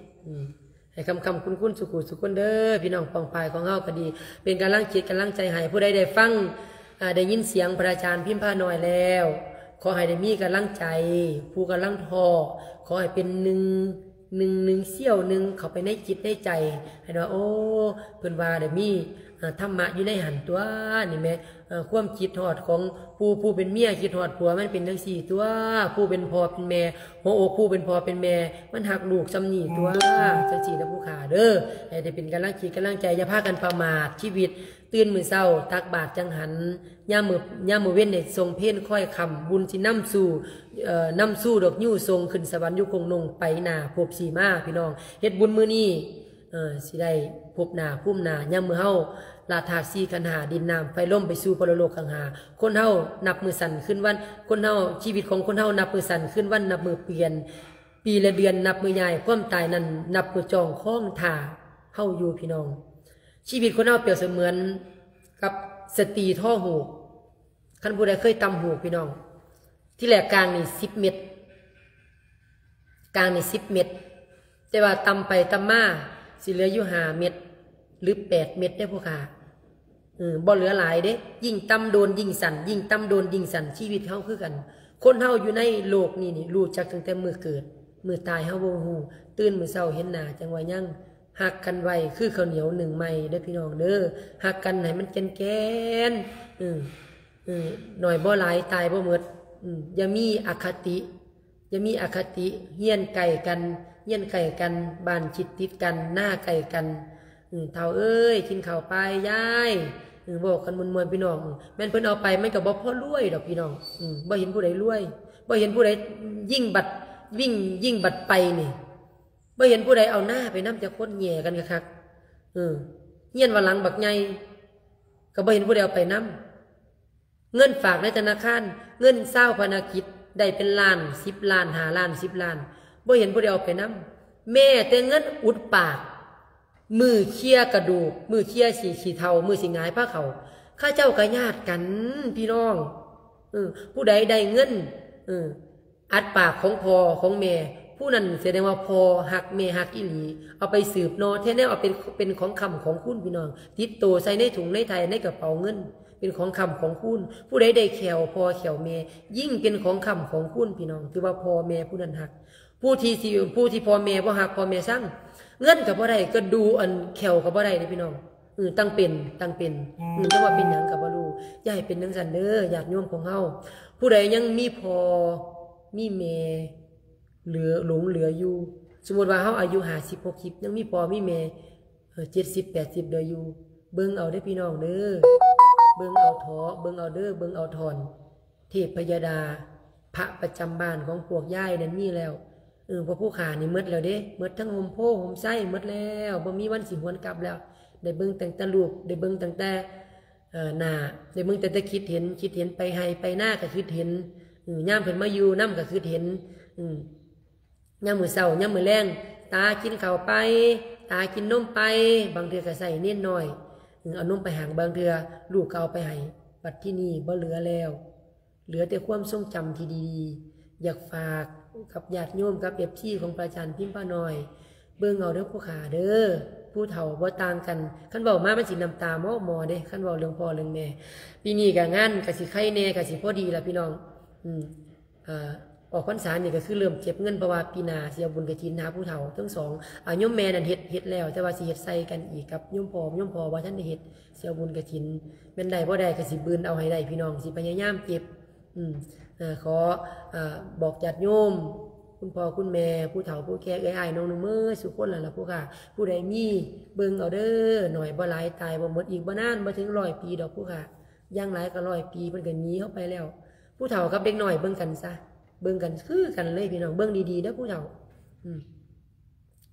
ອືມ ໃຫ້ຄ້ຳໆຄູນໆ ສຸຂູສຸຄົນເດີ ພີ່ນ້ອງປ້ອງປາຍຂອງເຮົາກໍດີ, ເປັນກຳລັງຈິດກຳລັງໃຈໃຫ້. ຜູ້ໃດໄດ້ຟັງ ອ່າ ໄດ້ຍິນສຽງພະອາຈານພິມພານ້ອຍແລ້ວ ຂໍໃຫ້ໄດ້ມີກຳລັງໃຈ, ຜູ້ກຳລັງທໍ້ ຂໍໃຫ້ເປັນໜຶ່ງ ໜຶ່ງ ໜຶ່ງສ່ຽວໜຶ່ງເຂົ້າໄປໃນຈິດໃນໃຈ ໃຫ້ວ່າ ໂອ້ ເພິ່ນວ່າໄດ້ມີ ທຳມະຢູ່ໃນຫັ້ນຕົວະ ນີ້ແມ່ນ ຄວາມຄິດຮອດຂອງຜູ້ ຜູ້ເປັນເມຍຄິດຮອດຜົວ ມັນເປັນຈັ່ງຊີ້ຕົວະ ຜູ້ເປັນພໍ່ເປັນແມ່ ຫົວອົກຜູ້ເປັນພໍ່ເປັນແມ່ ມັນຮັກລູກຊ່ຳນີ້ຕົວະ ຈັ່ງຊີ້ນະຜູ້ຂ້າເດີ ໃຫ້ໄດ້ເປັນກຳລັງຈິດກຳລັງໃຈ ຢ່າພາກັນປະໝາດຊີວິດ ຕື່ນມື້ເຊົ້າຕັກບາດຈັງຫັນ ຍາມມື້ ຍາມມື້ເວັນນີ້ສົ່ງເພນຄ້ອຍຄ່ຳ ບຸນຊິນຳສູ່ ເອີ ນຳສູ່ດອກຍູ່ສົ່ງຂຶ້ນສະຫວັນຢູ່ກົງນົງ ໄປໜ້າພົບສີມາ ພີ່ນ້ອງ ເຮັດບຸນມື້ນີ້ ເອີ ຊິໄດ້ພົບໜ້າພູມໜ້າ ຍາມມື້ເຮົາລະທາດສີ່ຂັນຫ້າ ດິນນ້ຳໄຟລົມ ໄປສູ່ປະໂລກຄັງຫາ ຄົນເຮົານັບມື້ສັ້ນຄືນວັນ ຄົນເຮົາ ຊີວິດຂອງຄົນເຮົານັບມື້ສັ້ນຄືນວັນ ນັບມື້ປ່ຽນ ປີແລະເດືອນນັບມື້ຍ້າຍ ຄວາມຕາຍນັ້ນນັບມື້ຈ້ອງຄອງຖ້າເຮົາຢູ່ ພີ່ນ້ອງ ຊີວິດຄົນເຮົາປຽບສະເໝືອນກັບສະຕີທໍຫູກ ຄັນຜູ້ໃດເຄີຍຕ່ຳຫູກ ພີ່ນ້ອງ ທີແລກກາງນີ້ສິບເມັດ ກາງນີ້ສິບເມັດ ແຕ່ວ່າຕ່ຳໄປຕ່ຳມາ ຊິເຫຼືອຢູ່ຫ້າເມັດ ຫຼື ແປດເມັດເດ້ຜູ້ຂ້າ ເອີ ບໍ່ເຫຼືອຫຼາຍເດ້ ຍິ່ງຕ່ຳໂດນຍິ່ງສັ້ນ ຍິ່ງຕ່ຳໂດນຍິ່ງສັ້ນ ຊີວິດເຮົາຄືກັນ ຄົນເຮົາຢູ່ໃນໂລກນີ້ນີ້ ຮູ້ຈັກຕັ້ງແຕ່ມື້ເກີດ ມື້ຕາຍເຮົາບໍ່ຮູ້ ຕື່ນມື້ເຊົ້າເຫັນໜ້າຈັ່ງວ່າຍັງ ຮັກກັນໄວ້ຄືເຂົ້າໜຽວໜຶ້ງໃໝ່ເດີພີ່ນ້ອງເດີ ຮັກກັນໃຫ້ມັນແກ່ນໆ ເອີ ເອີ ໜ້ອຍບໍ່ຫຼາຍຕາຍບໍ່ໝົດ ອື ຢ່າມີອະຄະຕິ ຢ່າມີອະຄະຕິ ເຮືອນໃກ້ກັນ ເຮືອນໃກ້ກັນ ບ້ານຊິດຕິດກັນ ນາໃກ້ກັນ ເອີ ເຖົ້າເອີຍ ກິນເຂົ້າໄປ ຍາຍ ເອີ ເວົ້າກັນມ່ວນໆ ພີ່ນ້ອງ ແມ່ນເພິ່ນເອົາໄປ ມັນກໍບໍ່ພໍລວຍດອກພີ່ນ້ອງ ເອີ ບໍ່ເຫັນຜູ້ໃດລວຍ ບໍ່ເຫັນຜູ້ໃດຍິ່ງບັດ ຍິ່ງ ຍິ່ງບັດໄປນີ້ ບໍ່ເຫັນຜູ້ໃດເອົານາໄປນຳຈັກຄົນ ແຍ່ກັນຄັກໆ ເອີ ເຮືອນວ່າຫຼັງບັກໃຫຍ່ ກໍບໍ່ເຫັນຜູ້ໃດເອົາໄປນຳ ເງິນຝາກໃນທະນາຄານ ເງິນຊາວພານະກິດ ໄດ້ເປັນລ້ານ ສິບລ້ານ ຫ້າລ້ານ ສິບລ້ານ ບໍ່ເຫັນຜູ້ໃດເອົາໄປນຳ ແມ້ແຕ່ເງິນອຸດປາກ ມື້ເຄຍກະດູກ ມື້ເຄຍຂີ້ ຂີ້ເຖົ້າ ມື້ຊິຫງາຍພາເຂົ້າ ເຂົາເຈົ້າກໍຍາດກັນ ພີ່ນ້ອງ ເອີ ຜູ້ໃດໄດ້ເງິນ ເອີ ອັດປາກຂອງພໍ່ຂອງແມ່ ຜູ້ນັ້ນສະແດງວ່າພໍ່ຮັກແມ່ຮັກອີ່ຫຼີ ເອົາໄປສືບຕໍ່ແທ້ແນວ ເອົາເປັນ ເປັນຂອງຄ້ຳຂອງຄູນ ພີ່ນ້ອງ ຕິດໂຕໃສ່ໃນຖົງໃນໄຖ່ ໃນກະເປົາເງິນ ເປັນຂອງຄ້ຳຂອງຄູນ ຜູ້ໃດໄດ້ແຂ້ວພໍ່ແຂ້ວແມ່ ຍິ່ງເປັນຂອງຄ້ຳຂອງຄູນ ພີ່ນ້ອງ ຖືວ່າພໍ່ແມ່ຜູ້ນັ້ນຮັກ ຜູ້ທີ່ຊິ ຜູ້ທີ່ພໍ່ແມ່ບໍ່ຮັກ ພໍ່ແມ່ຊັງ ເງິນກໍບໍ່ໄດ້ ກະດູອັນແຂ້ວກໍບໍ່ໄດ້ເດ້ພີ່ນ້ອງ ເອີ ຕັ້ງເປັນ ຕັ້ງເປັນ ເອີ ແຕ່ວ່າເປັນຫຍັງກໍບໍ່ຮູ້ ຢ່າໃຫ້ເປັນຈັ່ງຊັ້ນເດີ ຍາດໂຍມຂອງເຮົາ ຜູ້ໃດຍັງມີພໍ່ມີແມ່ເຫຼືອ ຫຼົງເຫຼືອຢູ່ ສົມມຸດວ່າເຮົາອາຍຸຫ້າສິບ ຫົກສິບ ຍັງມີພໍ່ມີແມ່ ເອີ ເຈັດສິບ ແປດສິບ ເຫຼືອຢູ່ ເບິ່ງເອົາເດີພີ່ນ້ອງເດີ ເບິ່ງເອົາເຖາະ ເບິ່ງເອົາເດີ ເບິ່ງເອົາທ່ອນ ເທບພະຍາດາ ພະປະຈຳບ້ານຂອງພວກຍາຍນັ້ນມີແລ້ວ ເອີ ພວກຜູ້ຂ້ານີ້ໝົດແລ້ວເດ້ ໝົດທັງຮົ່ມໂພຮົ່ມໄຊ ໝົດແລ້ວ ບໍ່ມີວັນຊິຫວນກັບແລ້ວ ໄດ້ເບິ່ງຕັ້ງແຕ່ຮູບ ໄດ້ເບິ່ງຕັ້ງແຕ່ ເອີ ໜ້າ ໄດ້ເບິ່ງຕັ້ງແຕ່ຄິດເຫັນ ຄິດເຫັນໄປໄຮ່ໄປນາກໍຄິດເຫັນ ເອີ ຍາມເພິ່ນມາຢູ່ນຳກໍຄິດເຫັນ ເອີ ຍາມມື້ເຊົ້າ ຍາມມື້ແລງ ຕາກິນເຂົ້າໄປ ຕາກິນນົມໄປ ບາງເທື່ອກໍໃຊ້ເນນນ້ອຍ ເອີ ເອົານົມໄປໃຫ້ ບາງເທື່ອລູກກໍເອົາໄປໃຫ້ ບັດທີນີ້ບໍ່ເຫຼືອແລ້ວ ເຫຼືອແຕ່ຄວາມຊົງຈຳທີ່ດີໆ ຢາກຝາກກັບຍາດໂຍມ ກັບເອັຟຊີຂອງພະອາຈານພິມພານ້ອຍ ເບິ່ງເອົາເດີຜູ້ຂ້າເດີ ຜູ້ເຖົ້າບໍ່ຕ່າງກັນ ຄັນເວົ້າມາມັນຊິນ້ຳຕາໝໍໆເດ້ ຄັນເວົ້າເລື່ອງພໍ່ເລື່ອງແມ່ ປີນີ້ກໍງານກໍຊິໄຄແດ່ ກໍຊິພໍດີລະພີ່ນ້ອງ ອືມ ອາ ອອກພັນສານີ້ກໍຄືເລີ່ມເກັບເງິນ ເພາະວ່າປີໜ້າຊິເອົາບຸນກະຖິນຫາຜູ້ເຖົ້າທັງສອງ ອາ ໂຍມແມ່ນັ້ນເຮັດ ເຮັດແລ້ວ ແຕ່ວ່າຊິເຮັດໃສ່ກັນອີກກັບໂຍມພໍ່ ໂຍມພໍ່ບໍ່ທັນໄດ້ເຮັດ ຊິເອົາບຸນກະຖິນ ແມ່ນໄດ້ບໍ່ໄດ້ກໍຊິບືນເອົາໃຫ້ໄດ້ພີ່ນ້ອງ ຊິພະຍາຍາມເກັບ ອືມ ເອີ ຂໍ ເອີ ບອກຍາດໂຍມ ຄຸນພໍ່ຄຸນແມ່ ຜູ້ເຖົ້າຜູ້ແກ່ ເອື້ອຍອ້າຍນ້ອງນຸ່ງເໝີດສູ່ຄົນນັ້ນລະຜູ້ຂ້າ ຜູ້ໃດມີເບິ່ງເອົາເດີ ໜ້ອຍບໍ່ຫຼາຍຕາຍບໍ່ໝົດ ອີກບໍ່ນານບໍ່ເຖິງຮ້ອຍປີດອກຜູ້ຂ້າ ຢ່າງຫຼາຍກໍຮ້ອຍປີ ເພິ່ນກໍໜີເຮົາໄປແລ້ວ ຜູ້ເຖົ້າກັບເດັກນ້ອຍເບິ່ງກັນຊະ ເບິ່ງກັນຄືກັນເລີຍພີ່ນ້ອງ ເບິ່ງດີໆເດີຜູ້ເຖົ້າ ອືມ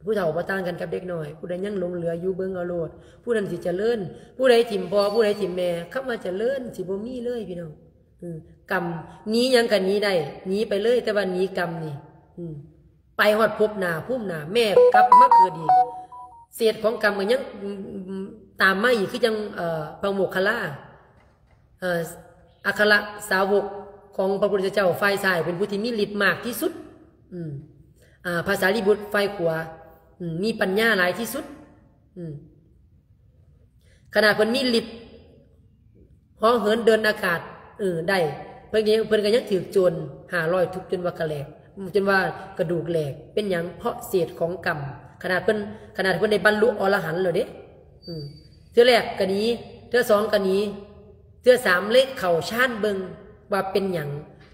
ຜູ້ເຖົ້າບໍ່ຕ່າງກັນກັບເດັກນ້ອຍ ຜູ້ໃດຍັງຫຼົງເຫຼືອຢູ່ເບິ່ງເອົາໂລດ ຜູ້ນັ້ນຊິຈະເລີນ ຜູ້ໃດຖິ້ມພໍ່ ຜູ້ໃດຖິ້ມແມ່ ຄຳວ່າຈະເລີນຊິບໍ່ມີເລີຍພີ່ນ້ອງ ເອີ ກຳ ໜີຫຍັງກໍໜີໄດ້ ໜີໄປເລີຍ ແຕ່ວ່າໜີກຳນີ້ ອືມ ໄປຮອດພົບໜ້າພູມໜ້າ ແມ່ກັບມາເກີດອີກ ເສດຂອງກຳກໍຍັງ ອືມ ຕາມມາອີກ ຄືຈັ່ງ ເອີ ພະໂມກຄະລາ ເອີ ອັກຄະລະສາວົກຂອງພະພຸດທະເຈົ້າ ຝ່າຍຊ້າຍເປັນຜູ້ທີ່ມີລິດມາກທີ່ສຸດ ອືມ ອາ ພະສາລີບຸດ ຝ່າຍຂວາ ອືມ ມີປັນຍາຫຼາຍທີ່ສຸດ ອືມ ຂະໜາດເພິ່ນມີລິດເຫາະເຫີນເດີນອາກາດ ເອີ ໄດ້ ເພິ່ນກໍ ເພິ່ນກໍຍັງຖືກໂຈນຫ້າຮ້ອຍທຸບຈົນວ່າກະແຫຼກ ຈົນວ່າກະດູກແຫຼກ ເປັນຫຍັງ? ເພາະເສດຂອງກຳ ຂະໜາດເພິ່ນ ຂະໜາດເພິ່ນໄດ້ບັນລຸອໍລະຫັນແລ້ວເດ້ ອືມ ເທື່ອແລກກໍໜີ ເທື່ອສອງກໍໜີ ເທື່ອສາມເລີຍເຂົ້າຊານເບິ່ງວ່າເປັນຫຍັງ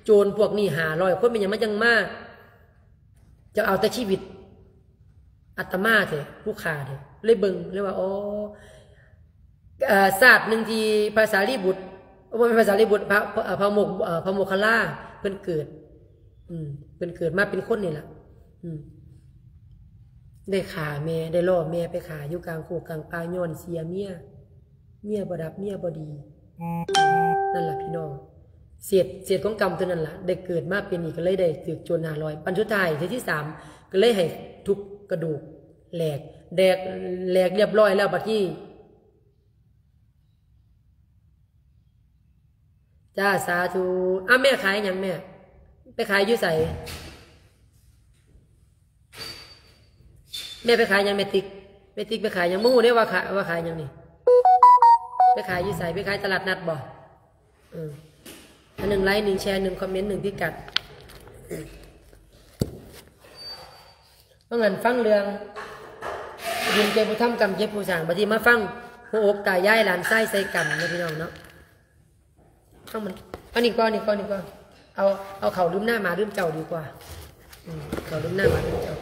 ໂຈນພວກນີ້ຫ້າຮ້ອຍຄົນ ເປັນຫຍັງມັນຈັ່ງມາ ຈະເອົາແຕ່ຊີວິດອາດຕະມາແທ້ ຜູ້ຂ້າແທ້ ເລີຍເບິ່ງ ເລີຍວ່າ ອໍ ເອີ ຊາດໜຶ່ງທີ່ພະສາລີບຸດ ບໍ່ແມ່ນພະສາລີບຸດ ພະ ພະ ພະໂມກ ເອີ ພະໂມກຄັນລາ ເພິ່ນເກີດ ອືມ ເພິ່ນເກີດມາເປັນຄົນນີ້ລະ ອືມ ໄດ້ຂ້າແມ່ ໄດ້ລໍ້ແມ່ໄປຂ້າຢູ່ກາງໂຄກກາງປ່າ ຍ້ອນເສຍເມຍ ເມຍບໍ່ຮັກ ເມຍບໍ່ດີ ນັ້ນລະພີ່ນ້ອງ ເສດ ເສດຂອງກຳຕົວນັ້ນລະ ໄດ້ເກີດມາເປັນອີກ ກໍເລີຍໄດ້ຖືກໂຈນຫ້າຮ້ອຍ ບັດສຸດທ້າຍເທື່ອທີສາມ ກໍເລີຍໃຫ້ທຸບກະດູກແຫຼກ ແດກ ແຫຼກລຽບຮ້ອຍແລ້ວ ບັດນີ້ ຈ້າ ສາທຸ ອ້າວ ແມ່ຂາຍຫຍັງແມ່? ໄປຂາຍຢູ່ໃສ? ແມ່ໄປຂາຍຫຍັງແມ່ຕິກ? ແມ່ຕິກໄປຂາຍຫຍັງ? ບໍ່ຮູ້ເດ້ວ່າຂາຍ ວ່າຂາຍຫຍັງນີ້ ໄປຂາຍຢູ່ໃສ? ໄປຂາຍຕະຫຼາດນັດບໍ່? ເອີ ອັນໜຶ່ງໄລ ໜຶ່ງແຊ ໜຶ່ງຄອມເມັນ ໜຶ່ງພິກັດ ວ່າຊັ້ນ ຟັງເລື່ອງບຸນເກັບຜູ້ທຳ ກຳເກັບຜູ້ສ້າງ ບັດນີ້ມາຟັງຫົວອົກຕາຍາຍຫຼານຊາຍໃສ່ກຳເນາະ ພີ່ນ້ອງເນາະ. ເອົາມັນ ເອົານີ້ກ່ອນ ນີ້ກ່ອນ ນີ້ກ່ອນ ເອົາ ເອົາເຂົ້າລືມໜ້າໝາລືມເຈົ້າດີກວ່າ ອືມ ເຂົ້າລືມໜ້າໝາລືມເຈົ້າ.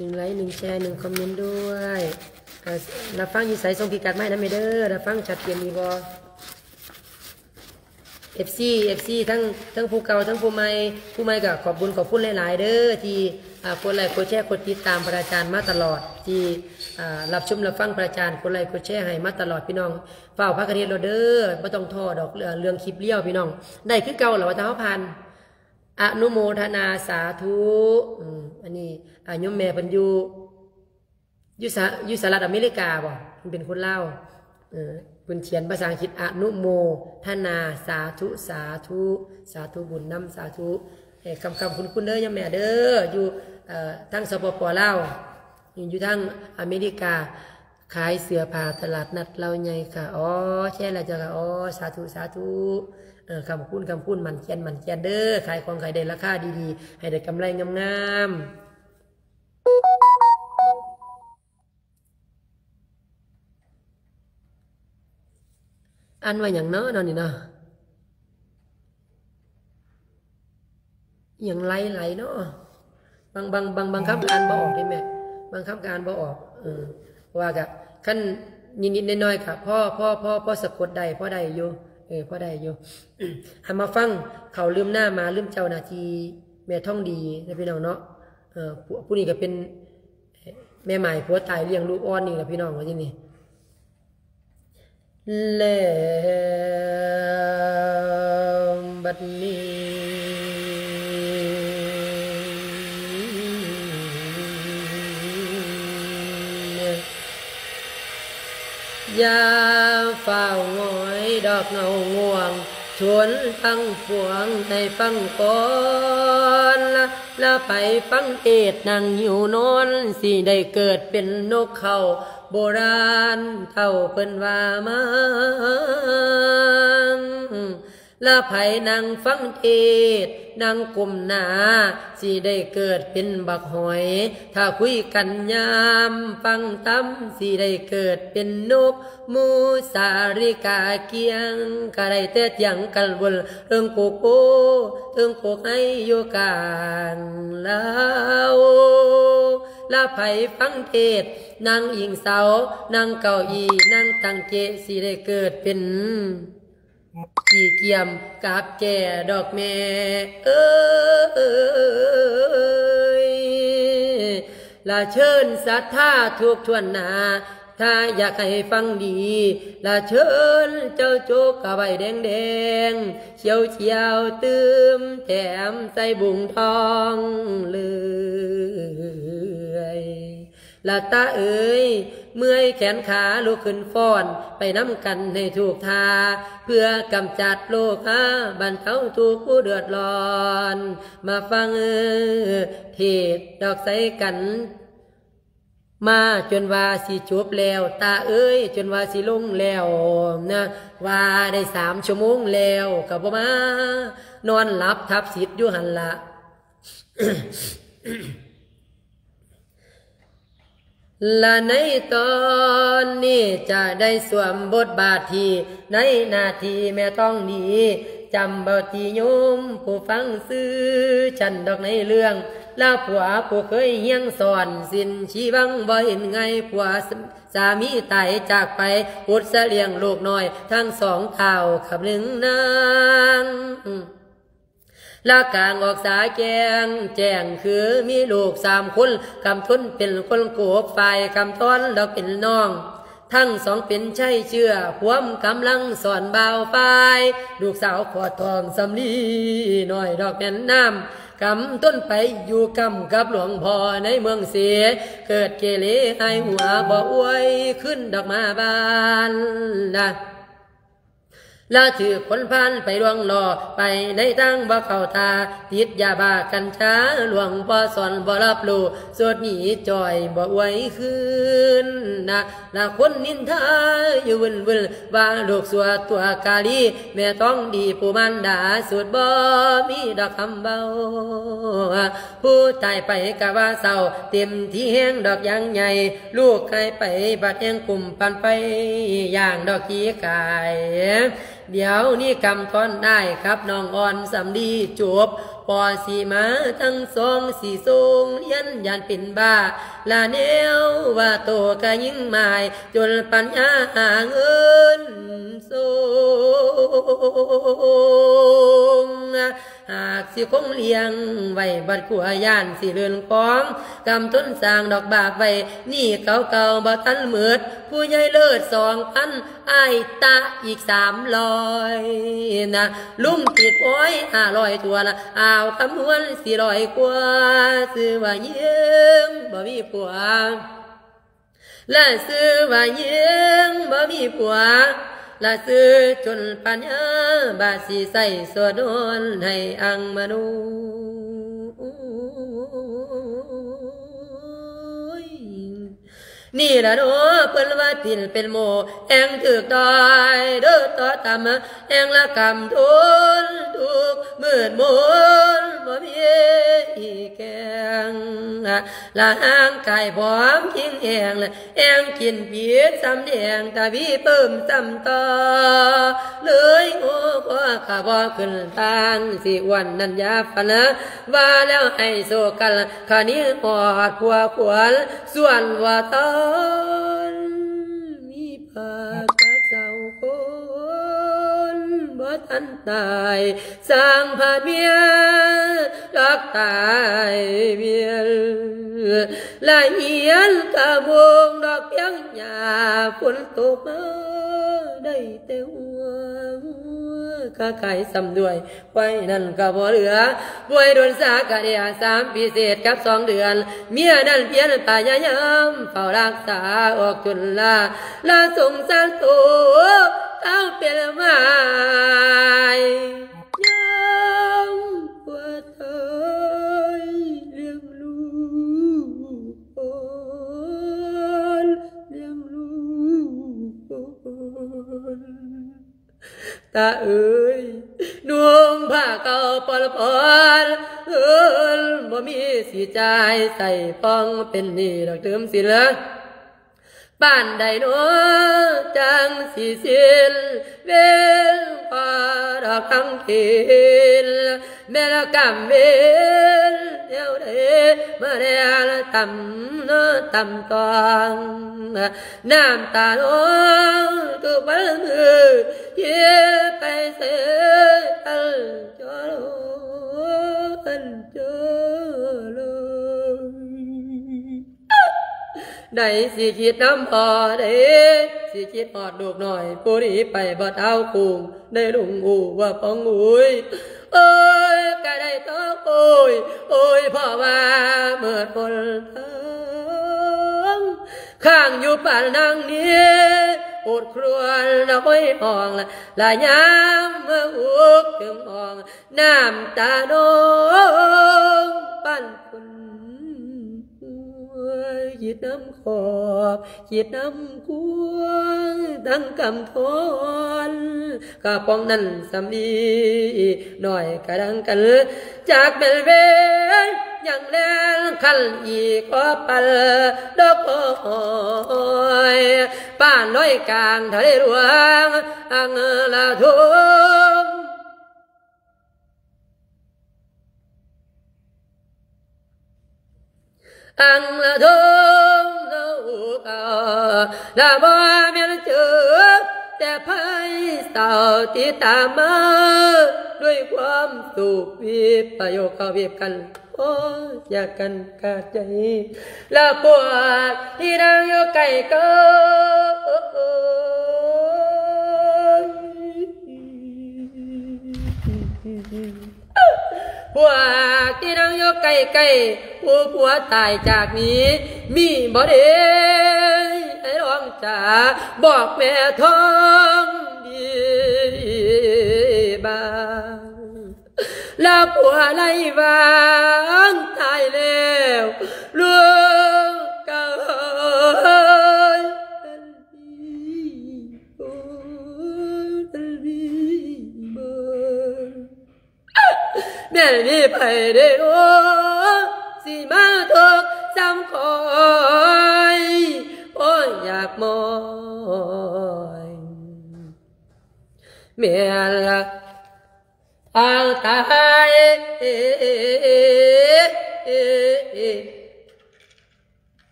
ໜຶ່ງໄລ ໜຶ່ງແຊ ໜຶ່ງຄອມເມັນດ້ວຍ. ເອີ ຮັບຟັງຢູ່ໃສ ສົ່ງພິກັດມາໃຫ້ນຳແດ່ເດີ. ຮັບຟັງຊັດເຈນດີບໍ່ ເອັຟຊີ ເອັຟຊີ ທັງ ທັງຜູ້ເກົ່າ ທັງຜູ້ໃໝ່. ຜູ້ໃໝ່ກໍຂອບບຸນຂອບຄຸນຫຼາຍໆເດີ ທີ່ ອ່າ ກົດໄລກົດແຊ ກົດຕິດຕາມພະອາຈານມາຕະຫຼອດ ທີ່ ອ່າ ຮັບຊົມຮັບຟັງພະອາຈານ ກົດໄລກົດແຊໃຫ້ມາຕະຫຼອດ. ພີ່ນ້ອງຟ້າວພາກັນເຮັດໂລດເດີ ບໍ່ຕ້ອງທໍ້ດອກ ເລື່ອງ ເລື່ອງຄລິບລຽວ ພີ່ນ້ອງ ໄດ້ຄືເກົ່າລະວ່າ ຖ້າເຮົາຜ່ານ. ອະນຸໂມທະນາສາທຸ. ອືມ ອັນນີ້ ອາ ໂຍມແມ່ເພິ່ນຢູ່ ຢູ່ສະ ຢູ່ສະຫະລັດອາເມລິກາບໍ? ເພິ່ນເປັນຄົນລາວ. ເອີ ເພິ່ນຂຽນພາສາອັງກິດ ອະນຸໂມທະນາສາທຸ ສາທຸ ສາທຸບຸນນຳ ສາທຸ. ໃຫ້ຄ້ຳໆຄຸນໆເດີໂຍມແມ່ເດີ ຢູ່ ເອີ ທາງ ສປປ ລາວ ຢູ່ທາງອາເມລິກາ. ຂາຍເສື້ອຜ້າຕະຫຼາດນັດລາວໃຫຍ່ຄ່ະ. ອໍ ແຊນແລ້ວເຈົ້າຄ່ະ. ອໍ ສາທຸ ສາທຸ. ເອີ ຄ້ຳຄູນ ຄ້ຳຄູນ ໝັ້ນແກ່ນ ໝັ້ນແກ່ນເດີ ຂາຍຂອງໃຫ້ໄດ້ລາຄາດີໆ ໃຫ້ໄດ້ກຳໄລງາມໆ. ອ່ານວ່າຫຍັງເນາະ ເນາະນີ້ເນາະ? ອີ່ຫຍັງໄລໄລເນາະ? ບາງ ບາງ ບາງ ບາງຄຳກໍອ່ານບໍ່ອອກເດ້ແມ່ ບາງຄຳກໍອ່ານບໍ່ອອກ. ເອີ ເພາະວ່າກະ ຄັນນິດໆໜ້ອຍໆກະພໍ ພໍ ພໍ ພໍສະກົດໄດ້ ພໍໄດ້ຢູ່. ເອີ ພໍໄດ້ຢູ່. ເຮົາມາຟັງເຂົ້າລືມໜ້າໝາລືມເຈົ້ານະ ທີ່ແມ່ທອງດີນະ ພີ່ນ້ອງເນາະ. ເອີ ຜູ້ ຜູ້ນີ້ກໍເປັນແມ່ໝ້າຍຜົວຕາຍລ້ຽງລູກອ່ອນນີ້ລະ ພີ່ນ້ອງ ວ່າຈັ່ງນີ້. ແລ້ວບັດນີ້ ຢ່າຟ້າວຫງອຍດອກເງົາງ່ວງ ຊົນທັງປວງໃຫ້ຟັງກ່ອນ ລະ ລະໃຜຟັງເທດນັ່ງຫິວນອນ ຊິໄດ້ເກີດເປັນນົກເຂົາ ໂບລານເຖົ້າເພິ່ນວ່າມາ. ລະໃຜນັ່ງຟັງເທດ ນັ່ງກົ້ມໜ້າ ຊິໄດ້ເກີດເປັນບັກຫອຍ. ຖ້າຄຸຍກັນຍາມຟັງທຳ ຊິໄດ້ເກີດເປັນນົກ ໝູສາລິກາກ້ຽງ ກະໄດ້ແຕ່ຕຽງກັນວົນ ເທິງໂຄກໂພ ເທິງໂຄກໄຮຢູ່ກາງລາວ. ລະໃຜຟັງເທດ ນັ່ງອີງເສົາ ນັ່ງເກົ້າອີ່ ນັ່ງຕັ້ງເຈະ ຊິໄດ້ເກີດເປັນ ຂີ້ກຽມກັບແຈດອກແມ່ເອີຍ. ລະເຊີນສັດທາທຸກຖ້ວນໜ້າ ຖ້າຢາກໃຫ້ຟັງດີ ລະເຊີນເຈົ້າໂຈກກະໄວ້ແດງໆ ຂຽວໆ ຕື່ມແຖມໃສ່ບຸ້ງທອງເລີຍ. ລະຕາເອີຍ ເມື່ອຍແຂນຂາລຸກຂຶ້ນຟ້ອນ ໄປນຳກັນໃຫ້ທຸກທ່າ ເພື່ອກຳຈັດໂລຄາ ບັນເທົາທຸກຜູ້ເດືອດຮ້ອນ ມາຟັງເທດດອກໃສ່ກັນ ມາຈົນວ່າຊິຈົບແລ້ວ ຕາເອີຍ ຈົນວ່າຊິລົງແລ້ວນະ ວ່າໄດ້ສາມຊົ່ວໂມງແລ້ວ ກໍບໍ່ມາ ນອນຫຼັບທັບສິດຢູ່ຫັ້ນລະ. ລະໃນຕອນນີ້ຈະໄດ້ສວມບົດບາດທີ່ໃນໜ້າທີ່ແມ່ທອງດີ ຈຳເບົາຕິໂຍມຜູ້ຟັງຊື່ ຊັ້ນດອກໃນເລື່ອງລາວຜົວຜູ້ເຄີຍຮຽງສອນ ສິນຊີວັງບໍ່ເຫັນໄງ ຜົວສາມີຕາຍຈາກໄປ ອົດສະລ້ຽງລູກນ້ອຍທັງສອງທ້າວ ຄຳໜຶ່ງນາງ ລະກາງອອກສາແຈ້ງ ແຈ້ງຄືມີລູກສາມຄົນ ກຳທົນເປັນຄົນໂກກ ຝ່າຍກຳທອນດອກເປັນນ້ອງ ທັງສອງເປັນໄຊເຊື້ອ ພວມກຳລັງສອນບ່າວຝ່າຍ ລູກສາວຂອດທອງສຳລີ ນ້ອຍດອກແມ່ນນ້ຳ ກຳທົນໄປຢູ່ກຳກັບຫຼວງພໍ່ໃນເມືອງເສ ເກີດເກເລຫາຍຫົວ ບໍ່ອວຍຄືນດອກມາບ້ານນະ. ລະຖືກຄົນພານໄປລວງລໍ້ ໄປໃນທາງບໍ່ເຂົ້າທ່າ ຕິດຢາບ້າກັນຊາ ຫຼວງພໍ່ສອນບໍ່ຮັບຮູ້ ສຸດໜີຈ່ອຍບໍ່ອວຍຄືນນະ ລະຄົນນິນທາຢູ່ວຶ່ນໆ ວ່າລູກຊົ່ວຕົວະກາລີ ແມ່ທອງດີຜູ້ມານດາ ສຸດບໍ່ມີດອກຄຳເວົ້າ. ຜູ້ຕາຍໄປກະວ່າເສົ້າ ເຕັມທີ່ແຮງດອກຢ່າງໃຫຍ່ ລູກຫາຍໄປບັດແຮງກຸ້ມປານໄຟ ຢ່າງດອກຂີ້ກາຍ ດຽວນີ້ກຳທອນອ້າຍກັບນ້ອງອ່ອນສຳລີຈົບ ພໍຊິມາທັງສອງຊິສົ່ງຮຽນ ຢ້ານເປັນບ້າ ລະແນວວ່າໂຕກະຍິງໝາຍ ຈົນປັນຍາຫາເງິນສົ່ງ ຫາກຊິຄົງລ້ຽງໄວ້ບັດຂົວ ຢ້ານຊິເລື່ອນຄອງ ກຳທົນສ້າງດອກບາບໄວ້ ໜີ້ເກົ່າໆບໍ່ທັນໝົດ ຜູ້ໃຫຍ່ເລີດສອງພັນ ອ້າຍຕະອີກສາມຮ້ອຍນະ ລຸງຕິດໂອ້ຍຫ້າຮ້ອຍຖ້ວນ ອ້າວຄຳນວນສີ່ຮ້ອຍກວ່າ ຊື່ວ່າຍິງບໍ່ມີຜົວ ລະຊື່ວ່າຍິງບໍ່ມີຜົວ ລະຊື່ຈົນປັນຍາ ບາດຊິໃຊ້ໂສດນອນໃຫ້ອັງມະໂນ ນີ້ລະເນາະ ເພິ່ນວ່າຕິນເປັນໂມ ແອງຖືກຕ້ອຍ ເດີຕໍ່ຕ່ຳ ແອງລະກຳທົນທຸກມືດມົນ ບໍ່ມີແກງ ລະຮ່າງກາຍຜອມພິງແຫ້ງ ແອງກິນຜິດຊ້ຳແດງ ທະວີເພີ່ມຊ້ຳຕໍ່ ເລີຍໂຫກະບໍ່ຂຶ້ນທາງ ຊິອ້ວນນັ້ນຢ່າຝັນ ວ່າແລ້ວໃຫ້ໂຊກັນ ຄະນີຮອດຜົວຄວນ ສ່ວນວ່າຕອນມີ ປາກກະເຊົາຄົນບໍ່ທັນຕາຍ ສ້າງພາດເມຍດອກຕາຍວຽນ ລະຮຽນກະໂມງດອກພຽງຫຍ້າ ຝົນຕົກມາໄດ້ແຕ່ຫົວ ກະກາຍຊ້ຳດ້ວຍ ໄວ້ນັ້ນກໍບໍ່ເຫຼືອ ປ່ວຍດົນຊາກະເດຍສາມປີເສດກັບສອງເດືອນ ເມຍນັ້ນພຽນພະຍາຍາມເຝົ້າຮັກສາອອກຈົນລາ ລະສົງສານໂຕເອົາເປັນໝາຍ ຍາມວ່າຕາຍລ້ຽງລູກອ່ອນ ລ້ຽງລູກອ່ອນ. ຕາເອີຍ ນຸ່ງຜ້າເກົ່າປ່ອນໆ ເອີນ ບໍ່ມີຊິຈ່າຍໃຊ້ປ່ອງ ເປັນໜີ້ດອກຕື່ມສິນ ປານໃດເນາະ ຈັ່ງຊິສິ້ນເວນ ພໍດອກທັງເຂດ ແມ່ນລະກຳເວນແນວໃດ ມາແລ້ວລະຕ່ຳເນາະ ຕ່ຳຕ້ອງ ນ້ຳຕານ້ອງທຸກວັນມື້ ເທໄປໃສ່ອັນຈໍໂລ ອັນຈໍໂລ ໃດຊິຄິດນຳພໍ່ ໃດຊິຄິດຮອດລູກນ້ອຍ ຜູ້ໜີໄປບໍ່ເທົ່າຄູງ ໃນລຸງອູ່ວ່າປ້ອງອຸ້ຍ ໂອ້ຍ ກະໄດ້ຕໍ່ໂອ້ຍ ໂອ້ຍ ເພາະວ່າເໝິດຫົນທາງ ຄ້າງຢູ່ປານນາງນີ້ ອົດຄຣວນລະໂອຍຮ້ອງ ລະຍາມເມື່ອອຸກເຖິງຫ້ອງ ນ້ຳຕານ້ອງປັນຝຸ່ນ ຄິດນຳຂອບ ຄິດນຳຄວາມ ທັງກຳທອນ ກະປ່ອງນັ້ນສຳລີ ນ້ອຍກະດັງກັນ ຈັກແມ່ນເວນຫຍັງແລ່ນຄັນອີກ ຂໍປັນດອກອ້ອຍ ປານລອຍກາງທະເລຫຼວງ ອັງລະທົງ ອັງລະທົງ ລະບໍ່ແມ່ນເຈີ ແຕ່ໄພສາວຕິດຕາມມາ ດ້ວຍຄວາມສຸກວິບປະໂຍກເຂົ້າວິບກັນ ໂອ້ ຢາກກັນຂາດໃຈ ລະພວກທີ່ນັ່ງຢູ່ໃກ້ເກີ ພວກທີ່ນັ່ງຢູ່ໃກ້ໆ ຜູ້ຜົວຕາຍຈາກນີ້ ມີບໍ່ເດ ໃຫ້ລອງຈາບອກແມ່ທອງດີບາງ ລະຜົວໄລ່ວາງຕາຍແລ້ວລູກເອີຍ ແມ່ນມີໃຜເດໂອ ຊິມາທຸກສ່ຳຂ້ອຍ ໂອ້ຍ ຢາກມອຍ ແມ່ນລະ ອາວຕາຍ ເອ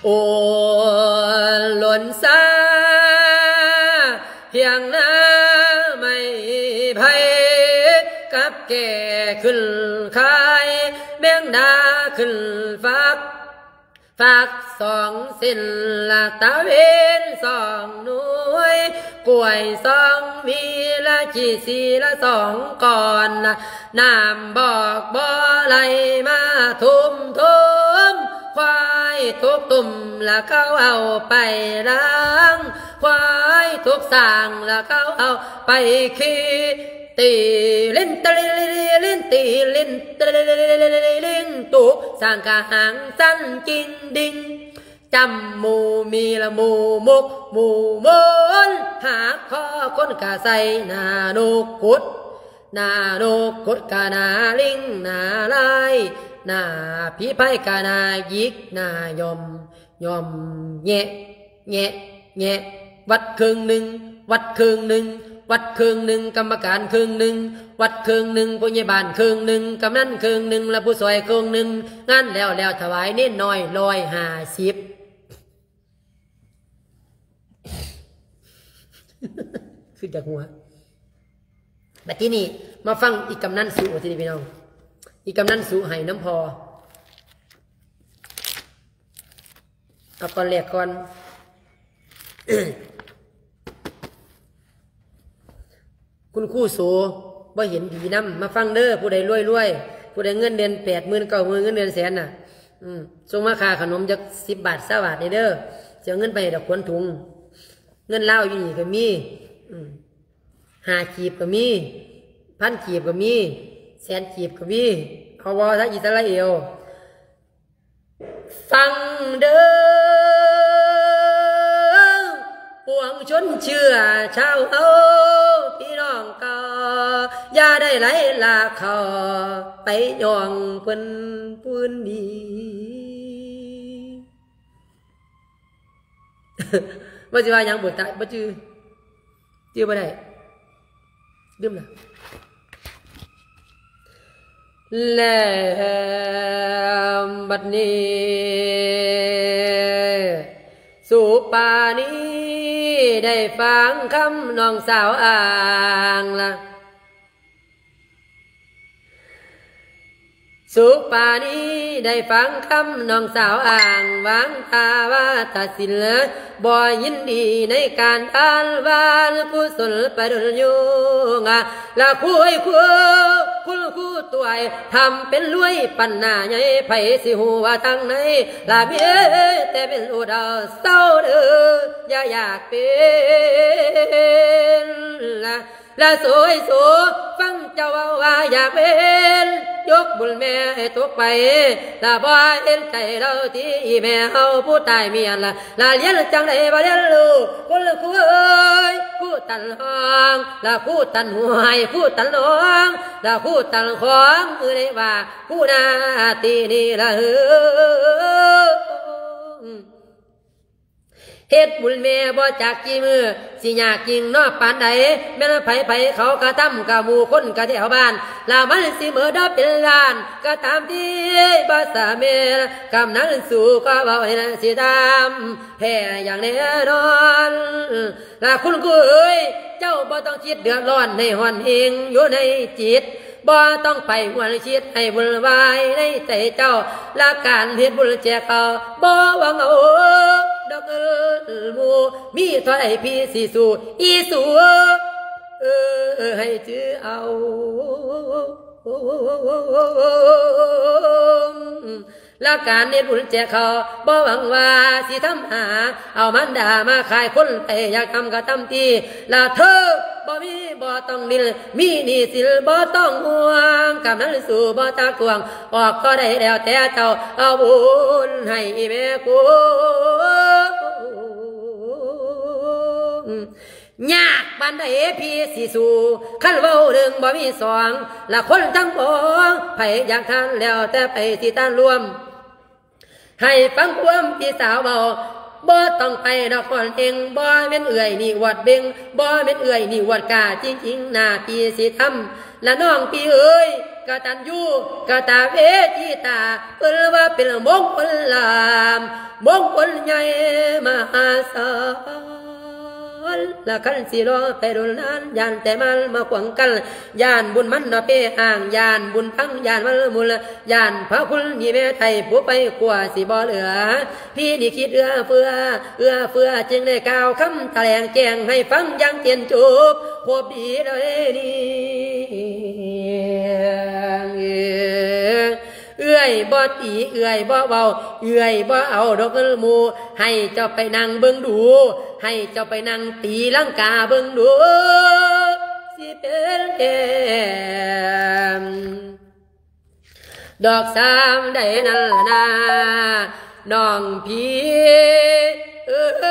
ໂອນຫຼົ່ນຊາ ພຽງໜ້າໄມ້ໄຜ່ ກັບແກ່ຂຶ້ນຄາຍ ແມງດາຂຶ້ນຝັກ ຝັກສອງເສັ້ນລະຕະເວັນສອງໜ່ວຍ ກ້ວຍສອງຫວີລະຈີ່ສີ່ລະສອງກ່ອນ ນ້ຳບອກບໍ່ໄຫຼມາທຸ່ມໂທມ ຄວາຍທຸກຕຸ່ມລະເຂົາເອົາໄປລ້າງ ຄວາຍທຸກສ້າງລະເຂົາເອົາໄປຂີ້ ຕີລິນຕະລິລິລິນ ຕີລິນຕະລິລິລິລິລິນ ຕຸກສ້າງກະຫາງສັ້ນຈິງດິງ ຈຳໝູ່ມີລະໝູ່ມຸກ ໝູ່ມົນ ຫາກຄໍຄົນກະໃສ່ໜ້ານົກກຸດ ໜ້ານົກກຸດກະໜ້າລິງ ໜ້າລາຍ ໜ້າຜີພາຍກະໜ້າຢິກ ໜ້າຫຍ່ອມ ຫຍ່ອມແຍະ ແຍະ ແຍະ ວັດເຄິ່ງໜຶ່ງ ວັດເຄິ່ງໜຶ່ງ ວັດເຄິ່ງໜຶ່ງ ກຳມະການເຄິ່ງໜຶ່ງ ວັດເຄິ່ງໜຶ່ງ ຜູ້ໃຫຍ່ບ້ານເຄິ່ງໜຶ່ງ ກຳນັນເຄິ່ງໜຶ່ງ ແລະ ຜູ້ຊ່ອຍເຄິ່ງໜຶ່ງ ງານແລ້ວ ແລ້ວຖວາຍເນນນ້ອຍຮ້ອຍຫ້າສິບ ຄືຈະຫົວ. ບັດທີນີ້ມາຟັງອີກກຳນັນສຸ ບັດທີນີ້ພີ່ນ້ອງ ອີກກຳນັນສຸໃຫ້ນຳພໍ່ ເອົາກ່ອນແລກກ່ອນ ຄຸນຄູໂສບໍ່ເຫັນດີນຳ ມາຟັງເດີ ຜູ້ໃດລວຍໆ ຜູ້ໃດເງິນເດືອນແປດໝື່ນ ເກົ້າໝື່ນ ເງິນເດືອນແສນນະ ອືມ ສົ່ງມາຄ່າຂະໜົມຈັກສິບບາດ ຊາວບາດນີ້ເດີ ຊິເອົາເງິນໄປໃຫ້ດອກຂວັນຖຸງ ເງິນລາວຢູ່ນີ້ກະມີ ອືມ ຫ້າກີບກະມີ ພັນກີບກະມີ ແສນກີບກະມີ ເອົາບໍ່ ທາງອິດສະຣາເອວ ຟັງເດີ ປວງຊົນເຊື້ອຊາວເຮົາ ພີ່ນ້ອງເກົ່າ ຢ່າໄດ້ໄຫຼລາເຂົ້າ ໄປຍ້ອງເພິ່ນພື້ນດີ. ວ່າຊິວ່າຫຍັງ ບໍ່ຕາ ບໍ່ຈື່ ຈື່ບໍ່ໄດ້ ລືມລະ. ແລ້ວບັດນີ້ ສຸປານີ ໄດ້ຟັງຄຳນ້ອງສາວອ້າງລະ ສຸປານີ ໄດ້ຟັງຄຳນ້ອງສາວອ້າງ ວາງທ່າວ່າຕັດສິນ ບໍ່ຍິນດີໃນການອ້າງວ່າ ກຸສົນປະດົນຢູ່ ລະຄຸຍຄູ ຄຸນຄູຕົວຍທຳເປັນລວຍປັນໜ້າໃຫຍ່ ໃຜຊິຮູ້ວ່າທາງໃນລະມີແຕ່ເປັນອຸດເອົາເຊົາເດີ ຢ່າຢາກເປັນລະ ລະໂສຍໂສ ຟັງເຈົ້າເວົ້າວ່າຢາກເປັນ ຍົກບຸນແມ່ໃຫ້ຕົກໄປ ລະບໍ່ເຫັນໃຈເຮົາຕິ ອີແມ່ເຮົາຜູ້ຕາຍເມຍນລະ ລະລຽນຈັ່ງໃດບໍ່ລຽນຮູ້ ຄຸນຄູເອີຍ ຄູຕັນຫ້ອງ ລະຄູຕັນຫ້ວຍ ຄູຕັນໜອງ ລະຄູຕັນຂອງ ຄືໄດ້ວ່າຄູໜ້າທີ່ນີ້ລະເຮີ ເຮັດບຸນແມ່ບໍ່ຈັກກີ່ມື້ ຊິຍາກຍິ່ງເນາະປານໃດ ແມ່ນໃຜໆເຂົາກະທຳ ກະໝູ່ຄົນກະແຖວບ້ານ ລະມັນຊິເໝີດເປັນລ້ານ ກະຕາມທີ່ບໍ່ສາແມ່ນ ກຳນັນສູ່ກໍເວົ້າໃຫ້ນາງຊິຕາມ ແທ້ຢ່າງແນ່ນອນ ລະຄຸນຄູເອີຍ ເຈົ້າບໍ່ຕ້ອງຄິດເດືອດຮ້ອນໃຫ້ຮ້ອນເຮງຢູ່ໃນຈິດ ບໍ່ຕ້ອງໄປຫວນຄິດໃຫ້ວຸ່ນວາຍໃນໃຈເຈົ້າ ລະການເຮັດບຸນແຈກເຂົາ ບໍ່ຫວັງເອົາດອກເອີຍໝູ່ ມີເທົ່າໃດພີ່ຊິສູ້ ອີສູ່ເອີຍ ໃຫ້ຈື່ເອົາ. ລະການເຮັດບຸນແຈກເຂົາ ບໍ່ຫວັງວ່າຊິທຳຫາ ເອົາມານດາມາຂາຍຄົນໄປ ຢາກທຳກະທຳທີ່ ລະເທີບໍ່ມີບໍ່ຕ້ອງດີ້ນ ມີໜີ້ສິນບໍ່ຕ້ອງຫ່ວງ ກຳນັນສູ່ບໍ່ຕາກວງ ອອກກໍໄດ້ແລ້ວແຕ່ເຈົ້າ ເອົາບຸນໃຫ້ອີແມ່ກຸນ ຍາກປານໃດພີ່ຊິສູ້ ຄັນເວົ້າໜຶ່ງບໍ່ມີສອງ ລະຄົນທັງປວງ ໃຜຢາກທານແລ້ວແຕ່ໃຜຊິທານລວມ ໃຫ້ຟັງຄວາມພີ່ສາວເວົ້າ ບໍ່ຕ້ອງໄປນະຄອນເອງ ບໍ່ແມ່ນເອື້ອຍນີ້ອວດເບັງ ບໍ່ແມ່ນເອື້ອຍນີ້ອວດກ້າ ຈິງໆ ໜ້າພີ່ຊິທຳ ລະນ້ອງພີ່ເອີຍ ກະຕັນຍູກະຕະເວທີຕາ ເອີ້ນວ່າເປັນມົງຄົນລາມ ມົງຄົນໃຫຍ່ມະຫາສາ ລະຄັນຊິລໍໄປດົນນານ ຢ້ານແຕ່ມານມາຂວາງກັ້ນ ຢ້ານບຸນມັນເນາະເປອ້າງ ຢ້ານບຸນພັງ ຢ້ານມັນມຸນ ຢ້ານພະຄຸນມີແມ່ໄທຜູ້ໄປຂົວຊິບໍ່ເຫຼືອ ພີ່ນີ້ຄິດເອື້ອເຟື້ອ ເອື້ອເຟື້ອ ຈຶ່ງໄດ້ກ່າວຄຳຖະແຫຼງແຈ້ງໃຫ້ຟັງຢ່າງເຈນຈົບ ຄົບດີເລີຍນີ້ ເອື້ອຍບໍ່ຕີ ເອື້ອຍບໍ່ເວົ້າ ເອື້ອຍບໍ່ເອົາດອກເງິນໝູ່ ໃຫ້ເຈົ້າໄປນັ່ງເບິ່ງດູ ໃຫ້ເຈົ້າໄປນັ່ງຕີລັງກາເບິ່ງດູ ຊິເປັນແທ້ ດອກຊຳໃດນັ້ນລະນາ ນ້ອງພີ່ເອີຍ ເອ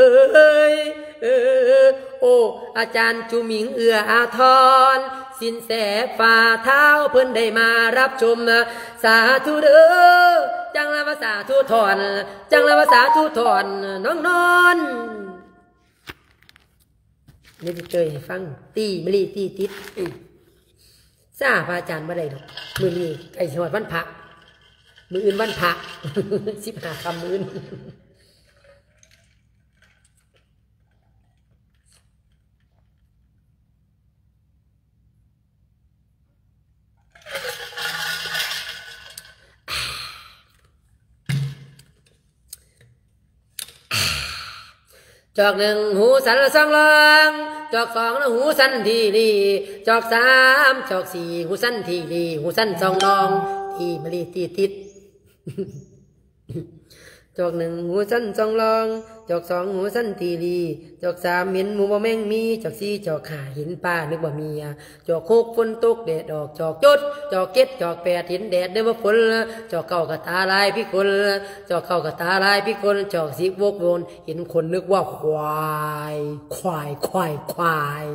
ີຍ ເອີຍ ໂອ້ ອາຈານຈຸມິງເອື້ອອາທອນ ສິນແສຝ່າທ້າວເພິ່ນໄດ້ມາຮັບຊົມ ສາທຸເດີ ຈັ່ງລະວ່າສາທຸທອນ ຈັ່ງລະວ່າສາທຸທອນ ນ້ອງນອນ ນີ້ຊິເຈີຍໃຫ້ຟັງ ຕີມະລີຕີຕິດ ຊ້າພະອາຈານບໍ່ໄດ້ດອກ ມື້ນີ້ໃກ້ຊິຮອດວັນພະ ມື້ອື່ນວັນພະ ສິບຫ້າຄ່ຳມື້ອື່ນ. ຈອກໜຶ່ງຫູສັ້ນສອງລອງ ຈອກສອງຫູສັ້ນທີ່ລີ ຈອກສາມ ຈອກສີ່ຫູສັ້ນທີ່ລີ ຫູສັ້ນສອງລອງ ທີ່ມະລີທີ່ຕິດ ຈອກໜຶ່ງຫູສັ້ນສອງລອງ ຈອກສອງຫູສັ້ນທີ່ລີ ຈອກສາມເຫັນໝູບໍ່ແມງມີ ຈອກສີ່ຈອກຫ້າເຫັນປານຶກວ່າເມຍ ຈອກຫົກຝົນຕົກແດດອອກ ຈອກເຈັດ ຈອກເຈັດ ຈອກແປດເຫັນແດດນຶກວ່າຝົນ ຈອກເກົ້າກະຕາລາຍພິກົນ ຈອກເກົ້າກະຕາລາຍພິກົນ ຈອກສິບວົກວົນເຫັນຄົນນຶກວ່າຄວາຍ ຄວາຍ ຄວາຍ ຄວາຍ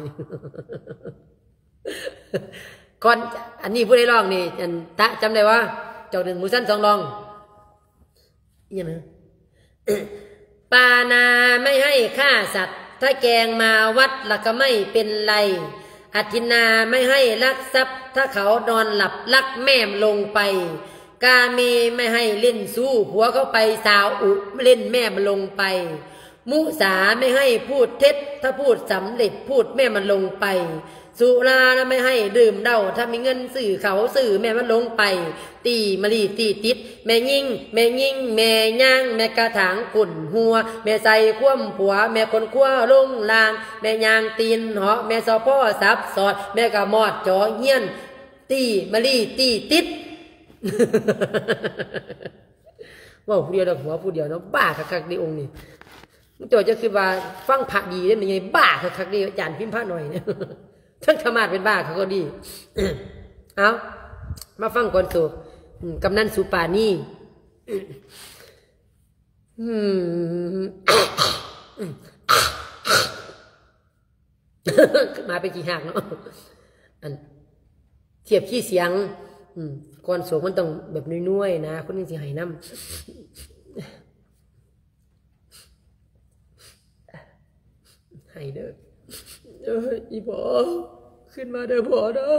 ກ່ອນ ອັນນີ້ຜູ້ໃດຮ້ອງນີ້ ອັນ ຕະ ຈຳໄດ້ບໍ່? ຈອກໜຶ່ງໝູຊັ້ນສອງລອງ ອີ່ຫຍັງນະ? ปานาไม่ให้ฆ่าสัตว์ ถ้าแกงมาวัดแล้วก็ไม่เป็นไร อธินาไม่ให้ลักทรัพย์ ถ้าเขานอนหลับลักแม่มันลงไป กาเมไม่ให้เล่นชู้ ผัวเขาไปสาวอุเล่นแม่มันลงไป มุสาไม่ให้พูดเท็จ ถ้าพูดสำเร็จพูดแม่มันลงไป ສຸລານະໄມ່ໃຫ້ດື່ມເຫຼົ້າ ຖ້າມີເງິນຊື້ເຂົ້າຊື້ ແມ່ມັນລົງໄປ ຕີມະລີຕີຕິດ ແມ່ຍິງ ແມ່ຍິງ ແມ່ຍ່າງ ແມ່ກະຖາງກົ້ນຫົວ ແມ່ໃສ່ຄວາມຜົວ ແມ່ຂົນຂົວລົງລ່າງ ແມ່ຍ່າງຕີນເຫາະ ແມ່ຊອພໍສັບສອດ ແມ່ກະມອດຈໍຮຽນ ຕີມະລີຕີຕິດ. ເວົ້າຜູ້ດຽວດອກ ຫົວຜູ້ດຽວເນາະ ບ້າຄັກໆເດ້ອົງນີ້. ເຈົ້າຈະຄິດວ່າຟັງພະດີເດ້ ແມ່ໃຫຍ່ບ້າຄັກໆເດ້ ອາຈານພິມພະໜ້ອຍນີ້ ທັງທຳມາດເປັນບ້າຄັກກໍດີ. ເອົາ ມາຟັງກ່ອນໂຕ ອືມ ກຳນັນສຸປານີ ອືມ ມາເປັນຂີ້ຮາກເນາະ ອັນ ທຽບຄີສຽງ ອືມ ກ່ອນໂສກມັນຕ້ອງແບບນວຍໆນະ ຄົນຈັ່ງຊິໄຫ້ນຳ ໄຫ້ເດີ ເອີ ອີ່ພໍ່ ຂຶ້ນມາເດີພໍ່ເດີ.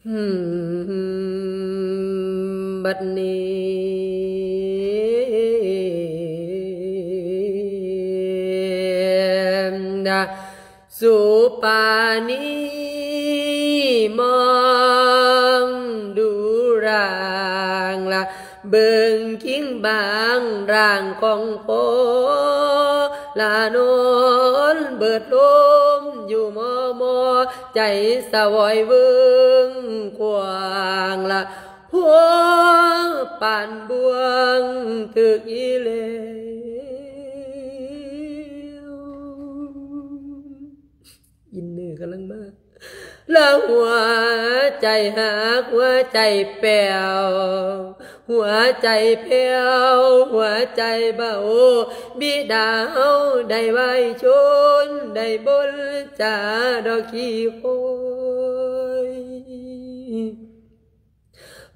ອືມ ບັດນີ້ນະ ສຸປານີມອງດູຮ່າງລະ ເບິ່ງຄິງບາງຮ່າງຂອງພໍ່ລະ ນອນເບີດລົມຢູ່ມໍ່ໆ ໃຈສະຫວອຍເວີງຂວາງລະ ພົວປານບ່ວງຖືກອີແລ້ວ. ອິນເນີກຳລັງມາ ລະຫົວໃຈຫັກ ຫົວໃຈແປວ ຫົວໃຈແຜ່ວ ຫົວໃຈເບົາ ບິດາເຮົາໄດ້ໄຫວ້ຊົນ ໄດ້ບົນຈາດອກຂີ້ຄວາຍ.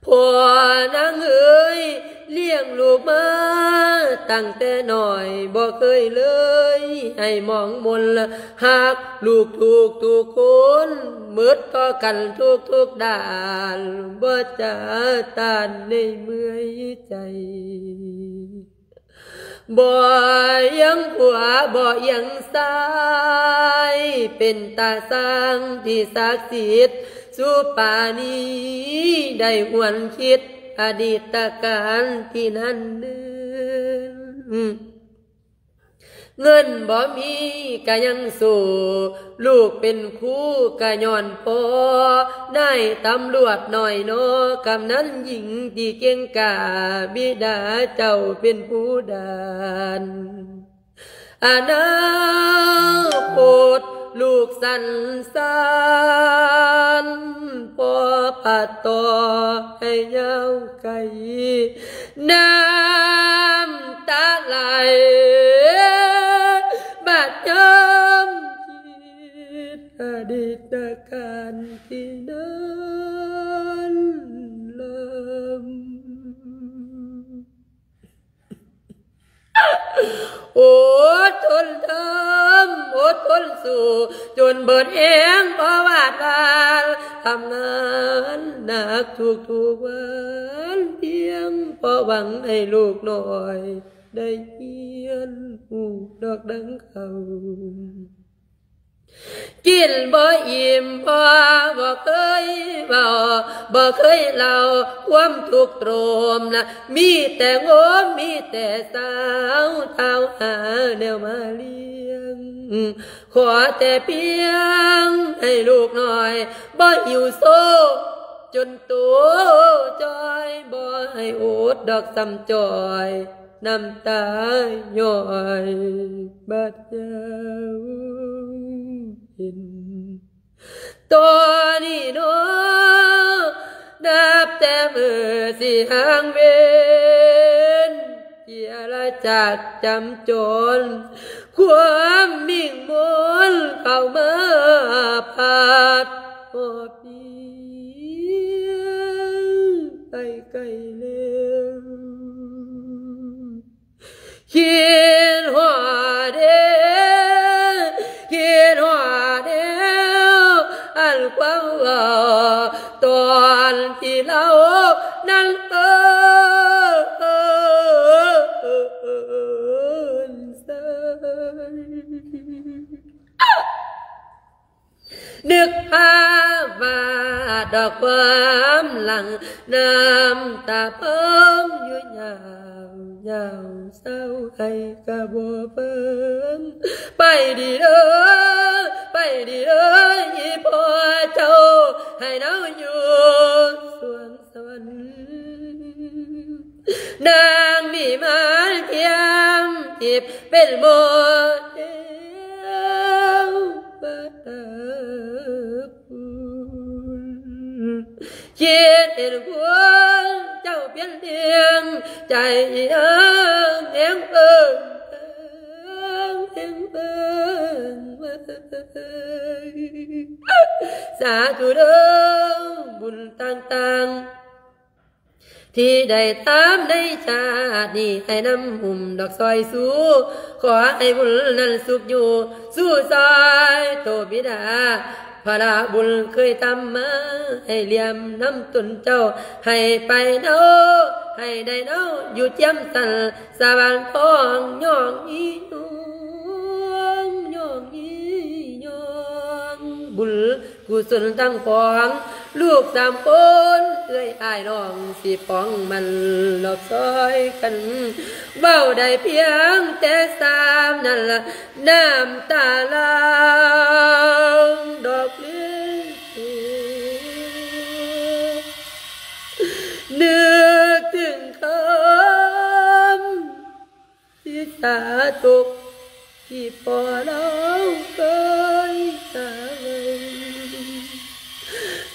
ພໍ່ນາງເອີຍ ລ້ຽງລູກມາຕັ້ງແຕ່ນ້ອຍ ບໍ່ເຄີຍເລີຍໃຫ້ມອງມົນ ຮັກລູກທຸກໆຄົນ ໝົດຕໍ່ກັນທຸກໆດ້ານ ບໍ່ຈະຕ້ານໃນເມື່ອຍໃຈ. ບໍ່ຢຽງຂວາ ບໍ່ຢຽງຊ້າຍ ເປັນຕາຊ່າງທີ່ສັກສິດ ສຸປານີໄດ້ຫວນຄິດອະດີດຕະການທີ່ນັ້ນເນີນ. ເງິນບໍ່ມີກະຍັງສູ້ ລູກເປັນຄູກະຍ້ອນພໍ່ ນາຍຕຳຫຼວດນ້ອຍໜໍ ກຳນັນຍິງທີ່ເກັ່ງກ້າ ບິດາເຈົ້າເປັນຜູ້ດານ ອະນາຄົດລູກສັນສານ ພໍ່ພັດຕໍ່ໃຫ້ຍາວໄກ ນ້ຳຕາໄຫຼ ບາດຍາມຄິດອະດີດຕະການທີ່ນັ້ນເລີຍ. ອົດທົນທຳ ອົດທົນສູ້ ຈົນເບີດແຮງ ບໍ່ວາດວານ ທຳງານໜັກທຸກໆວັນ ພຽງພໍຫວັງໃຫ້ລູກນ້ອຍໄດ້ຮຽນຮູ້ດອກດັ່ງເຂົາ. ກິນບໍ່ອີ່ມ ພໍ່ບໍ່ເຄີຍເວົ້າ ບໍ່ເຄີຍເລົ່າ ຄວາມທຸກໂຕມນະ ມີແຕ່ງົມ ມີແຕ່ຊາວ ທ້າວຫາແນວມາລ້ຽງ ຂໍແຕ່ພຽງໃຫ້ລູກນ້ອຍ ບໍ່ຫິວໂຊ ຈົນໂຕຈ່ອຍ ບໍ່ໃຫ້ອົດດອກສ່ຳຈ່ອຍ ນ້ຳຕາຍ້ອຍບາດຍາວເຫັນ ຕອນນີ້ເນາະ ນັບແຕ່ມື້ຊິຫາງເວັນ ເຈຍລະຈາກຈຳຈອນ ຄວາມມິ່ງມົນເຂົ້າມາພັດຮອບນີ້ ໄປໄກແລ້ວ ຄິດຮອດເດ້ ຄິດຮອດແລ້ວ ອັນຄວາມເວົ້າຕອນທີ່ເລົ່ານັ້ນເອີນໃສ່. ດອກຄວາມຫຼັງ ນ້ຳຕາເພິ່ງຢູ່ຍາວ ຍາວເສົ້າໄຫ້ກະບໍ່ເບິ່ງ ໄປດີເດີ ໄປດີເດີ ອີ່ພໍ່ເຈົ້າ ໃຫ້ເຮົາຢູ່ສວງ ສະຫວັນ ນາງວິມານທຽມທິບ ເປັນໂມເດວວະຕະຄຸນ ຄິດເຫັນຄຸນເຈົ້າປ່ຽນແນງ ໃຈອີ່ນາງແຮງເບິ່ງ ແຮງເບິ່ງ ສາທຸເດີ ບຸນຕ່າງໆ ທີ່ໄດ້ຕາມໃນຊາດນີ້ ໃຫ້ນຳຫຸ້ມດອກຊອຍຊູ ຂໍໃຫ້ບຸນນັ້ນສຸກຢູ່ ຊູຊອຍໂຕບິດາ ພະລະບຸນເຄີຍທຳມາ ໃຫ້ລຽມນຳຕົນເຈົ້າ ໃຫ້ໄປເນົາ ໃຫ້ໄດ້ເນົາ ຢູ່ຈຽມສັນສະຫວ່າງທອງ ຍ້ອງອີ່ຍ້ອງ ຍ້ອງອີ່ຍ້ອງ ບຸນ ກຸສົນທັງປວງ ລູກສາມຄົນ ເອື້ອຍອ້າຍນ້ອງ ຊິປອງມັນລອບຊອຍກັນ ເວົ້າໄດ້ພຽງແຕ່ສ່ຳນັ້ນລະ ນ້ຳຕາຫຼັ່ງດອກເລກ ນຶກເຖິງຄຳ ທີ່ສາຕົກ ທີ່ພໍ່ລາວເຄີຍກ່າວໄວ້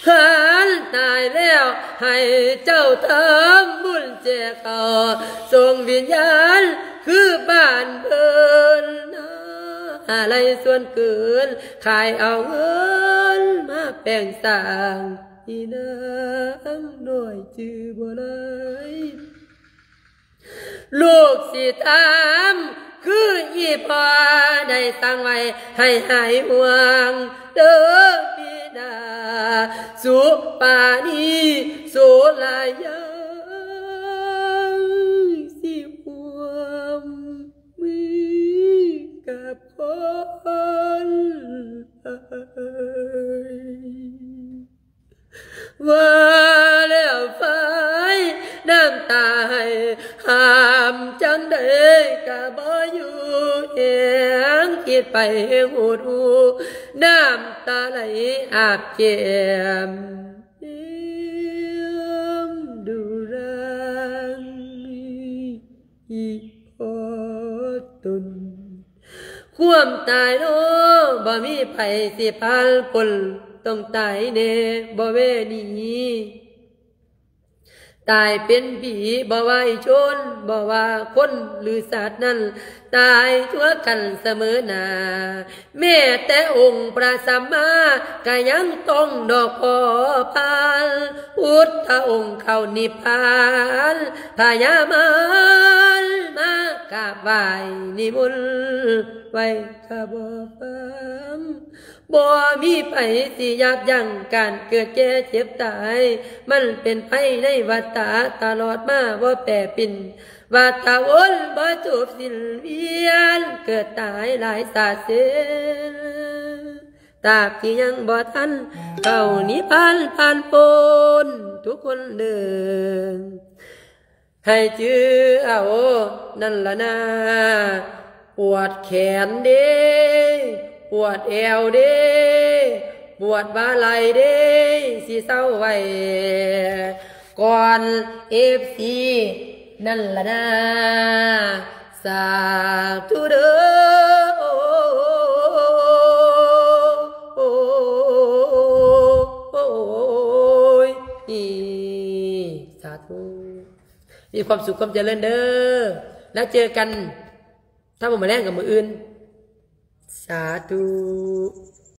ຄັນຕາຍແລ້ວໃຫ້ເຈົ້າທຳບຸນແຈກເຂົ້າ ສົ່ງວິນຍານຄືບ້ານເພິ່ນ ອາໄລສ່ວນເກີນ ຂາຍເອົາເງິນມາແປງສ້າງ ອີ່ນາງນ້ອຍຈື່ບໍ່ໄດ້ ລູກຊິຖາມ ຄືອີ່ພໍ່ໄດ້ສັ່ງໄວ້ ໃຫ້ຫາຍຫ່ວງເດີບິດາ ສຸປານີ ໂສລາຍາ ຊິຮ່ວມມືກັບຄົນເອີຍ. ວ່າແລ້ວໄຟນ້ຳຕາໄຫ້ ຫ້າມຈັ່ງໃດກະບໍ່ຢູ່ແຮງ ຄິດໄປເຮງຫົດຫູ ນ້ຳຕາໄຫຼອາບແກ້ມ ເອີມດູຣາງ ອີ່ພໍ່ຕົນ ຄວາມຕາຍເນາະ ບໍ່ມີໃຜຊິຜ່ານພົ້ນ ຕ້ອງຕາຍແນ່ບໍ່ແວ່ໜີ ຕາຍເປັນຜີ ບໍ່ວ່າອີ່ຊົນ ບໍ່ວ່າຄົນ ຫຼື ສັດນັ້ນ ຕາຍທົ່ວກັນສະເໝີໜ້າ ແມ້ແຕ່ອົງພະສຳມາ ກະຍັງຕ້ອງດອກຂໍຜ່ານ ພຸດທະອົງເຂົ້ານິບພານ ພະຍາມານມາກາບໄຫວ້ນິມົນໄວ້ກະບໍ່ຟັງ ບໍ່ມີໃຜຊິຢັບຢັ້ງການເກີດແກ່ເຈັບຕາຍ ມັນເປັນໄພໃນວັດຕະຕະຫຼອດມາບໍ່ແປປິ່ນ ວັດຕະວົນບໍ່ຈົບສິ້ນວຽນ ເກີດຕາຍຫຼາຍຊາດເສນ ຕາບທີ່ຍັງບໍ່ທັນເຂົ້ານິບພານຜ່ານພົ້ນທຸກຄົນເດີ ໃຫ້ຈື່ເອົານັ້ນລະນາ ປວດແຂນເດ້ ປວດແອວເດ້ ປວດບ່າໄຫຼ່ເດ້ ຊິເຊົາໄວ້ກ່ອນເອັຟຊີ ນັ້ນລະນາ ສາທຸເດີ ໂອຍ ສາທຸ ມີຄວາມສຸກຄວາມຈະເລີນເດີ ແລ້ວເຈີກັນ ຖ້າບໍ່ມາແລງກັບມື້ອື່ນ ສາທຸ.